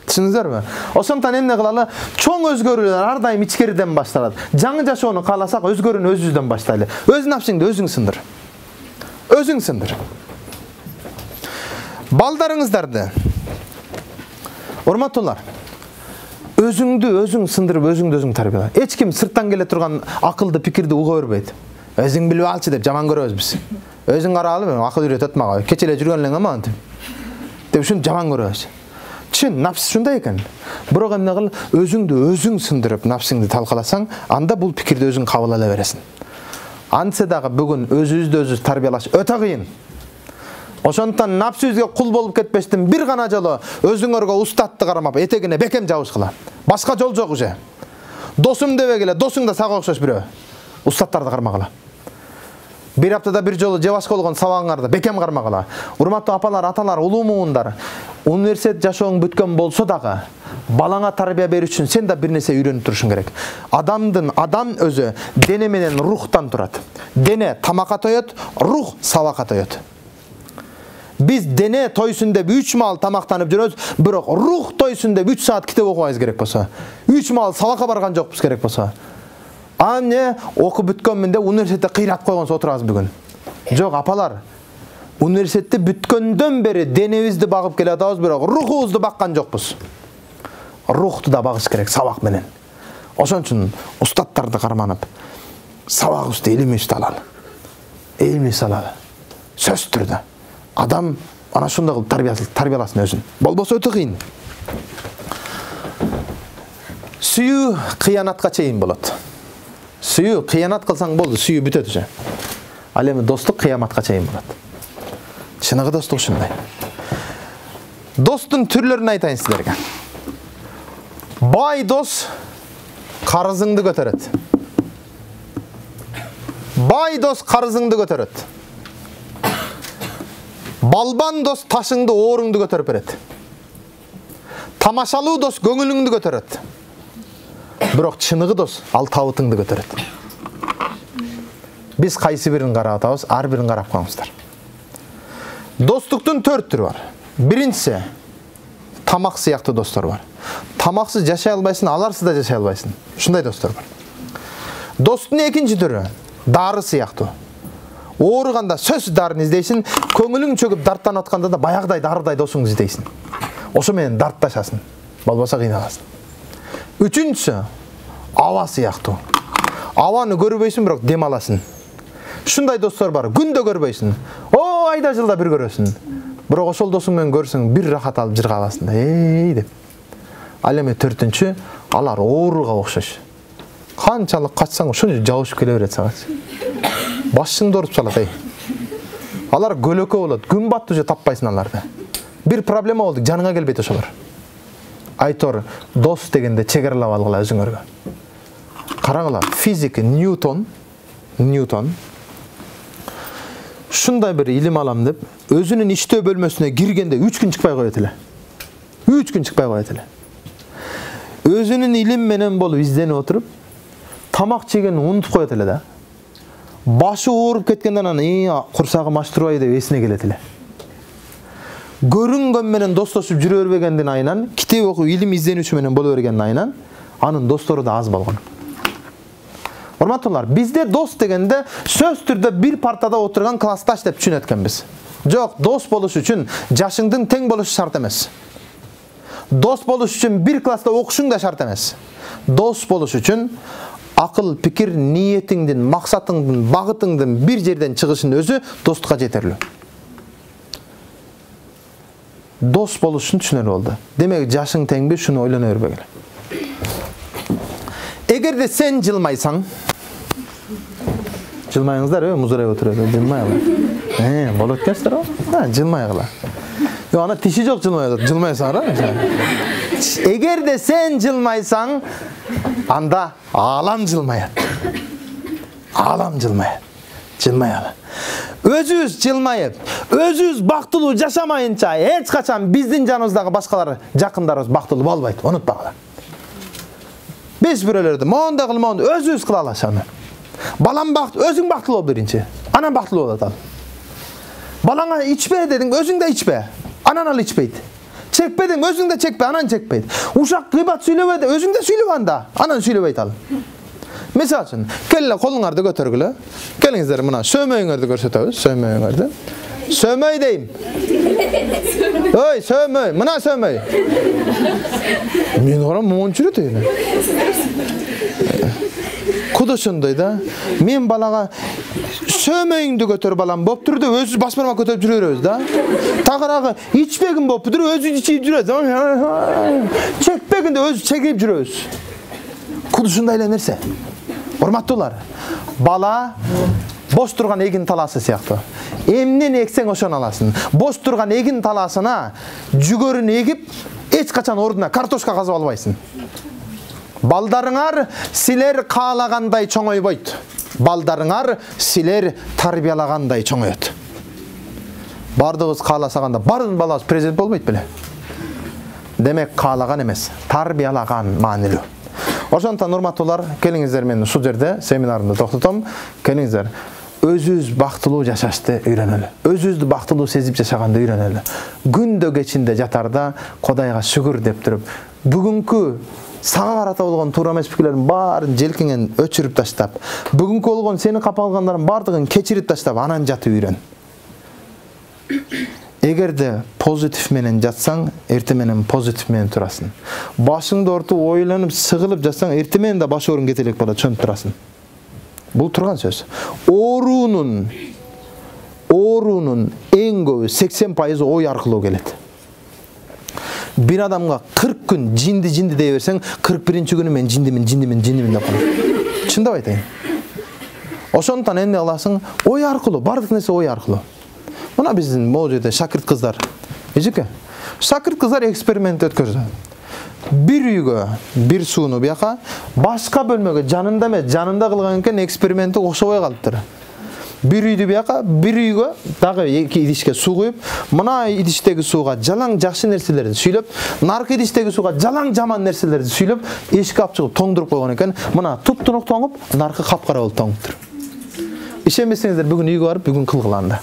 S1: Түшүндүңүзбү? Ошондон эмне кылалы? Чоң өзгөрүүлөр ар дайым ичкериден башталат. Жаңы жашоону кааласак, өзгөрүүнү өзүбүздөн баштайлы. Өз напсыңды өзүң сындыр. Өзүң сындыр. Балдарыңыздарды, урматтуулар, өзүңдү өзүң сындырып, өзүңдү өзүң тарбияла. Эч ким сырттан келе турган акылды пикирди уга бербейт. Өзүң билип алчы деп жаман көрөбүз биз. Өзүң каралы, акыл үйрөтөт мага. Кече эле жүргөн элең аман деп ушуну жаман көрөбүз. Чын, напс ушундай экен. Бирок эмне кыл, өзүңдү өзүң сындырып, напсыңды талкаласаң, анда бул пикирди өзүң кабыл ала бересиң. Антсе дагы бүгүн өзүбүздү өзүбүз тарбиялаш өтө кыйын. Ошондон напсыбызга кул болуп кетпештин бир гана жолу өзүңөргө устатты карамап, этегине бекем жабышкыла. Башка жол жок уже. Досум дебегиле, досуң да сага окшош бирөө. Устаттарды кармагыла. Бир аптада бир жолу же башка болгон сабагыңарды бекем кармагыла. Урматтуу апалар, аталар, улуу муундар, университет жашооң бүткөн болсо дагы, балаңа тарбия берүү үчүн сен да бир нерсе үйрөнүп турушуң керек. Адам өзү дене менен рухтан турат. Дене тамакка тоет, рух сабакка тоет. Биз дене тойсун деп 3 маал тамактанып жүрөбүз, бирок рух тойсун деп 3 саат китеп окубайбыз керек болсо, 3 маал сабакка барган жокпуз керек болсо. Ане окуп бүткөнмүн деп университетте кыйрат койгонсо отурабыз бүгүн. Жок, апалар. Университетти бүткөндөн бери денебизди багып келе атабыз, бирок рухубузду баккан жокпуз. Рухту да багыш керек сабак менен. Ошон үчүн устаттарды карманып, сабагыбызды илимибизди алалы. Илимибизди алалы. Сөз түрдө. Адам ана ошондой кылып тарбияласын өзүн. Болбосо өтө кыйын. Сүйүү кыянатка чейин болот. Сүйүү кыянат кылсаң болду, сүйүү бүтөт уже. Ал эми достук кыяматка чейин болот. Чыныгы достук ушундай. Достун түрлөрүн айтайын силерге. Бай дос карызыңды көтөрөт. Бай дос карызыңды көтөрөт. Балбан дос ташыңды, ооруңду көтөрүп берет. Тамашалуу дос көңүлүңдү көтөрөт. Бирок чыныгы дос ал табытыңды көтөрөт. Биз кайсы бирин карап атабыз, ар бирин карап коюңуздар. Достуктун 4 түрү бар. Биринчиси тамак сыяктуу достор бар. Тамаксыз жашай албайсың, аларсыз да жашай албайсың. Ушундай достор бар. Достун экинчи түрү дары сыяктуу. Ооруганда сөз дарын издейсиң, көңүлүң чөгүп дарттанып атканда да баягыдай дарыдай досуңду издейсиң. Ошо менен дартташасың. Болбосо кыйналасың. Үчүнчүсү аба сыяктуу. Абаны көрбөйсүң, бирок дем аласың. Ушундай достор бар. Күндө көрбөйсүң. О, айда жылда бир көрөсүң. Бирок ошол досуң менен көрсөң, бир рахат алып жырга аласың да, деп. Ал эми 4-үнчү, алар ооруга окшош. Канчалык качсаң, ошончо жабышып келе берет сага. Башыңды оруп салат, Алар көлөкө болот. Күн батты уже таппайсың аларды. Бир проблема болду, жаныңа келбейт ошолор. Айтор, дос дегенде чегарлап алгыла өзүңөргө. Караңыла, физик Ньютон ушундай бир илим алам деп, өзүнүн иштөө бөлмөсүнө киргенде 3 күн чыкпай коет эле. 3 күн чыкпай коет эле. Өзүнүн илим менен болуп изденип отуруп, тамак жегенин унутуп коет эле да. Башы ооруп кеткенден анан курсагым аш турбайбы деп эсине келет эле. Көрүнгөн менен достошуп жүрө бербегендин айынан, китеп окуп илим изденүүчү менен боло бергендин айынан, анын достору да аз болгон. Урматтуулар, бизде дос дегенде сөз түрдө бир партада отурган классташ деп түшүнөткөнбүз. Жок, дос болуш үчүн жашыңдын тең болушу шарт эмес. Дос болуш үчүн бир класста окушуң да шарт эмес. Дос болуш үчүн акыл, пикир, ниетиңдин, максатыңдын, багытыңдын бир жерден чыгышын өзү достукка жетерлүү. Дос болуш үчүн түшүнөр болду. Демек, жашың теңби, шуну ойлоно бербегиле. Эгерде сен жылмайсаң, жылмайыңыздар, музурайып отурат, жылмайгыла. Болот экенсиздер, жылмайгыла. Ана тиши жок жылмайсаңар, Эгерде сен жылмайсаң, анда алам жылмаят. Алам жылмаят. Жылмаяла. Өзүбүз жылмайып, өзүбүз бактылуу жашамайынча эч качан биздин жаныбыздагы башкалар, жакындарыбыз бактылуу болбойт. Унутпагыла. Биз бирөөлөрдү мондай кыл, мондай өзүбүз кыла алабыз аны. Балам өзүң бактылуу бол биринчи. Анан бактылуу болот ал. Балаңа ичпе дедиң, өзүң да ичпе. Анан ал ичпейт. Чекпе дең, өзүң да чекпе, анан чекпейт. Ушак гыйбат сүйлөбө де, өзүң да сүйлөбө анда, анан сүйлөбөйт ал. Мисалы үчүн, келе колуңарды көтөргүлө. Келиңиздер мына сөмөйүңөрдү көрсөтөбүз, сөмөйүңөрдү. Сөмөй дейм. Ой, сөмөй, мына сөмөй. Мен орам мончу жүрөт эне. Кудушундай да. Мен балага сөмөйүңдү көтөр балам болуптур деп өзү басмарма көтөрүп жүрө беребиз да. Тагыраагы ичпегин болуптур, өзү ичип жүрөт. Чекпегинде өзү чегип жүрөбүз. Кудушундай эле нерсе. Урматтуулар, бала бош турган эгин талаасы сыяктуу. Эмнени эксең ошону аласың. Бош турган эгин талаасына жүгөрүн эгип, эч качан ордуна картошка казып албайсың. Балдарыңар силер каалагандай чоңойбойт. Балдарыңар силер тарбиялагандай чоңоет. Бардыгыбыз кааласаганда бардын балабыз президент болбойт беле? Демек каалаган эмес, тарбиялаган маанилүү. Ошондон урматтуулар, келиңиздер мен ушул жерде семинарымды токтотом. Келиңиздер, өзүбүз бактылуу жашашты үйрөнөлү. Өзүбүздү бактылуу сезип жашаганды үйрөнөлү. Күндө кечинде жатарда Кудайга шүгүр деп туруп, бүгүнкү сага карата болгон туура эмес пикирлердин баарын желкеңен өчүрүп таштап, бүгүнкү болгон сени капалгандардын бардыгын кечирип таштап, анан жатып үйрөн. Эгерде позитив менен жатсаң, эрте менен позитив менен турасың. Башыңды ортуп ойлонуп, сыгылып жатсаң, эрте менен да баш оорун кетелек болот, чөнүп турасың. Бул турган сөз. Оорунун эң көбү 80% ой аркылуу келет. Bir адамга 40 күн жинди дей берсең, 41-чи күнү мен жиндимин деп калат. Чындап айтайын. Ошондон эмне кыласың? Ой аркылуу, бардык нерсе ой аркылуу. Мына биздин могу жерде шакирт кыздар. Эжеке, шакирт кыздар эксперимент өткөздү. Bir үйгө, bir сууну бияка, башка бөлмөгө жанында эмес, жанында кылган экен эксперименти окшобой калыптыр. Bir үйдү бияка, bir үйгө дагы эки идишке суу куюп, мына идиштеги сууга жалаң жакшы нерселерди сүйлөп, наркы идиштеги сууга жалаң жаман нерселерди сүйлөп, эшикке алып чыгып тоңдуруп койгон экен. Мына туп-тунук тоңуп, наркы капкара болуп тоңуптур. Ишенбесеңиздер, бүгүн үйгө барып, бүгүн кылгыланда.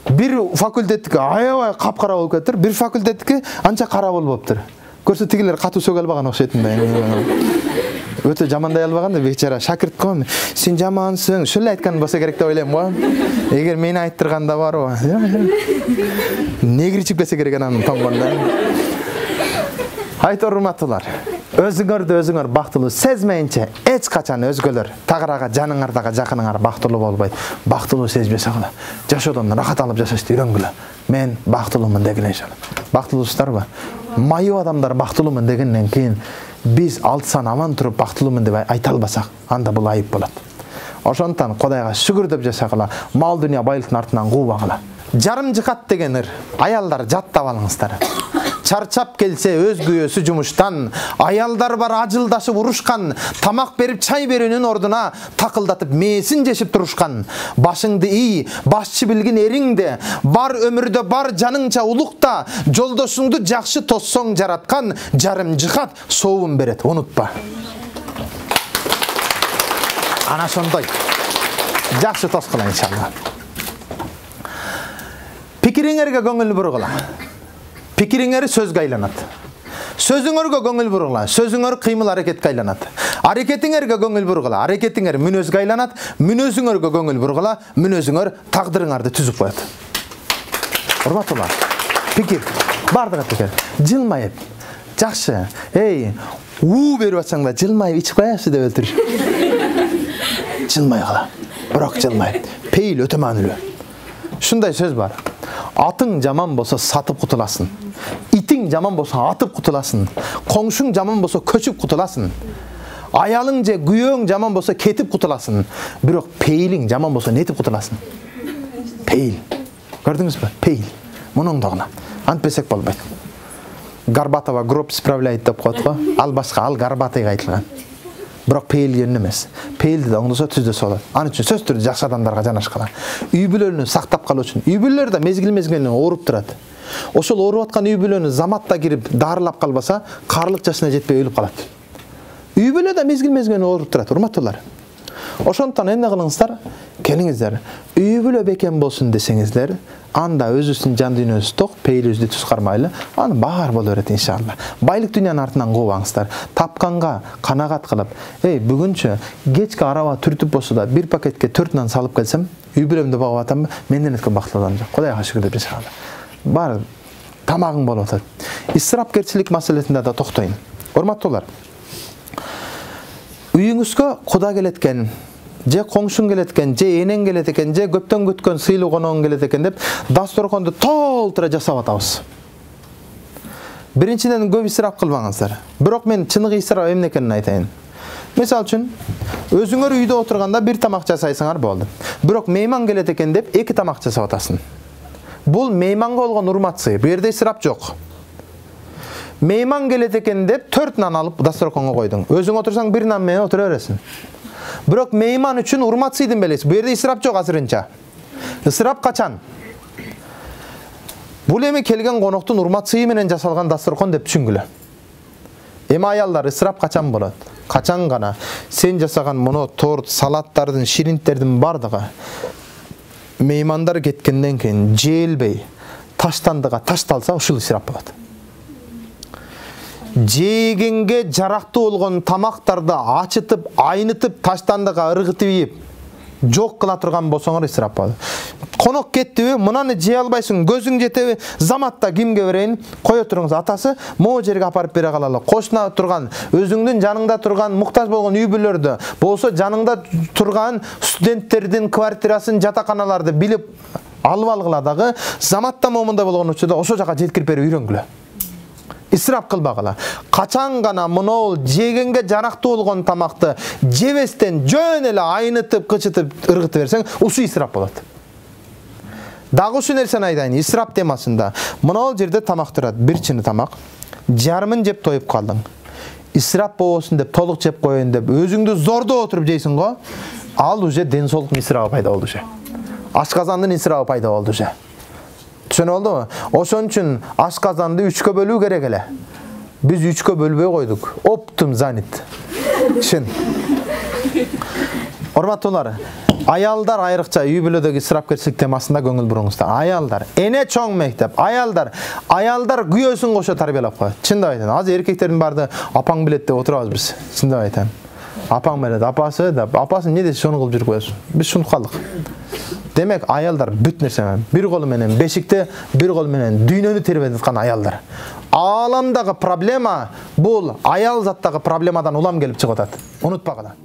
S1: Bir факультеттики аябай капкара болуп кетиптир, bir факультеттики анча кара болуптур. Көрсө тигилер катуу сөгө албаган окшойт да. Өтө жамандай албаган да бечара шакирт ком. Сен жамансың, шөлө айткан болсо керек деп ойлойм го. Эгер мени айттырганда барбы? Негричип кетсе керек анан тоңгонда. Айт урматтуулар, өзүңөр бактылуу сезмейинче эч качан өзгөлөр тагырага жаныңардагы жакыныңар бактылуу болбойт. Бактылуу сезип жашагыла. Жашоодон рахат алып жашашты үйрөнгүлө. Мен бактылуумун дегиле иншалла. Бактылуусуздарбы? Майып адамдар бактылуумун дегенден кийин биз алтысан аман туруп бактылуумун деп айта албасак, анда бул айып болот. Ошондон Кудайга шүгүр деп жашагыла, мал дүнүйө байлыктын артынан куубагыла. Жарым жыкат деген ыр, аялдар жаттап алыңыздар. Чарчап келсе өз күйөөсү жумуштан, аялдар бар ажылдашып урушкан, тамак берип чай берүүнүн ордуна такылдатып мээсин жешип турушкан. Башыңды ий, башчы билгин эриңде, бар өмүрдө бар жаныңча улукта, жолдошуңду жакшы тоссоң жараткан, жарым жыкат соовун берет, унутпа. Ана ошондой. Жакшы тоскула иншалла. Пикириңерге көңүл бургула. Пикириңер сөзгө айланат. Сөзүңөргө көңүл бургула. Сөзүңөр кыймыл аракетке айланат. Аракетиңерге көңүл бургула. Аракетиңер мүнөзгө айланат. Мүнөзүңөргө көңүл бургула. Мүнөзүңөр тагдырыңарды түзүп коет. Урматтуулар, пикир, бардыгы пикир. Жылмайып, жакшы. Эй, берип атсаң да жылмайып ичип коясыз деп өлтүрүш. Жылмайгыла. Бирок жылмайып. Пейил өтө маанилүү. Шундай сөз бар. Атың жаман болсо сатып кутуласың. Итиң жаман болсо атып кутуласың. Коңшуң жаман болсо көчүп кутуласың. Аялың же күйөөң жаман болсо кетип кутуласың. Бирок пейилиң жаман болсо нетип кутуласың? Пейил. Көрдүңүзбү? Пейил. Мунун дагына. Антпесек болбойт. Горбатова гроб справляет деп коет го. Ал башка, ал Горбатыйга айтылган. Бирок пейилген эмес. Пейилди да оңдосо түздөсө болот. Аны үчүн сөз түрдө жакшы адамдарга жанашкала. Үй бүлөнү сактап калуу үчүн. Үй бүлөлөр да мезгил-мезгилинен ооруп турат. Ошол ооруп аткан үй бүлөнү заматта кирип дарылап калбаса, карлык жашына жетпей өлүп калат. Үй бүлө да мезгил-мезгилинен ооруп турат, урматтуулар. Ошондон эмне кылыңыздар? Келиңиздер. Үй бүлө бекем болсун десеңиздер, анда өзүбүздүн жан дүйнөбүз ток, пейилибизди түз кармайлы, аны баар боло берет иншалла. Байлык дүйнөнүн артынан куубаңыздар. Тапканга канагат кылып, бүгүнчө кечки араба түртүп болсо да бир пакетке 4 нан салып келсем, үй бүлөмдү багып атамбы? Менден өткөн бактылуу адам жок. Кудайга шүгүр деп иншалла. Бар тамагың болуп атат. Исрапкерчилик маселесинде да токтойм. Урматтуулар, үйүңүзгө куда келет экен, же коңшуң келет экен, же энең келет экен, же көптөн күткөн сыйлуу коногуң келет экен деп дасторконду толтура жасап атабыз. Биринчиден көп исрап кылбаңыздар. Бирок мен чыныгы исрап эмне экенин айтайын. Мисалы үчүн, өзүңөр үйдө отурганда бир тамак жасайсыңар болду. Бирок мейман келет экен деп 2 тамак жасап атасың. Бул мейманга болгон урмат сый. Бу жерде исрап жок. Мейман келет экен деп 4 нан алып дасторконго койдуң. Өзүң отурсаң 1 нан менен отура бересиң. Бирок мейман үчүн урмат сыйдын белеси. Бу жерде исрап жок азырынча. Исрап качан? Бул эми келген коноктун урмат сыйы менен жасалган дасторкон деп түшүнгүлө. Эми аялдар исрап качан болот? Качан гана сен жасаган муну торт, салаттардын, ширинттердин бардыгы меймандар кеткенден кийин жеелбей таштандыга ташталса, ушул исрап болот. Жегенге жарактуу болгон тамактарды ачытып, айнытып, таштандыга ыргытып ийип, жок кыла турган болсоңор исрап болот. Конок кеттиби, мынаны жей албайсың, көзүң жетеби, заматта кимге берейин? Кое туруңуз, атасы могу жерге апарып бере калалы. Кошуна турган, өзүңдүн жаныңда турган муктаж болгон үй бүлөлөрдү, болсо жаныңда турган студенттердин квартирасын, жатаканаларды билип алып алгыла дагы, заматта момундай болгон учурда ошо жака жеткирип берип үйрөнгүлө. Исрап кылбагыла. Качан гана мынол жегенге жарактуу болгон тамакты жебестен жөн эле айнытып, кычытып, ыргытып берсең, ушу исрап болот. Дагы ушул нерсени айтайын, исрап темасында. Мынол жерде тамак турат, бир чыны тамак. Жарымын жеп тоюп калдың. Исрап болбосун деп толук жеп коеюн деп өзүңдү зордоп отуруп жейсиң го, ал уже ден соолуктун исрабы пайда болду уже. Ашказандын исрабы пайда болду уже. Түшүнүп болдуңбу? Ошон үчүн ашказанды 3кө бөлүү керек эле. Биз 3кө бөлбөй койдук. Оптум занят. Чын. Урматтуулар, аялдар айрыкча үй бүлөдөгү исрапкерчилик темасында көңүл буруңуздар. Аялдар, эне чоң мектеп, аялдар күйөөсүн кошо тарбиялап коет. Чындап айтам. Азыр эркектердин баарды апаң билет деп отурабыз биз. Чындап айтам. Апаң билет, апасы деп, апасы эмне десе шуну кылып жүрүп коесуң. Биз шунтуп калдык. Демек аялдар бүт нерсе менен, бир колу менен бешикте, бир колу менен дүйнөнү тербетип аткан аялдар. Ааламдагы проблема бул аял заттагы проблемадан улам келип чыгып атат. Унутпагыла.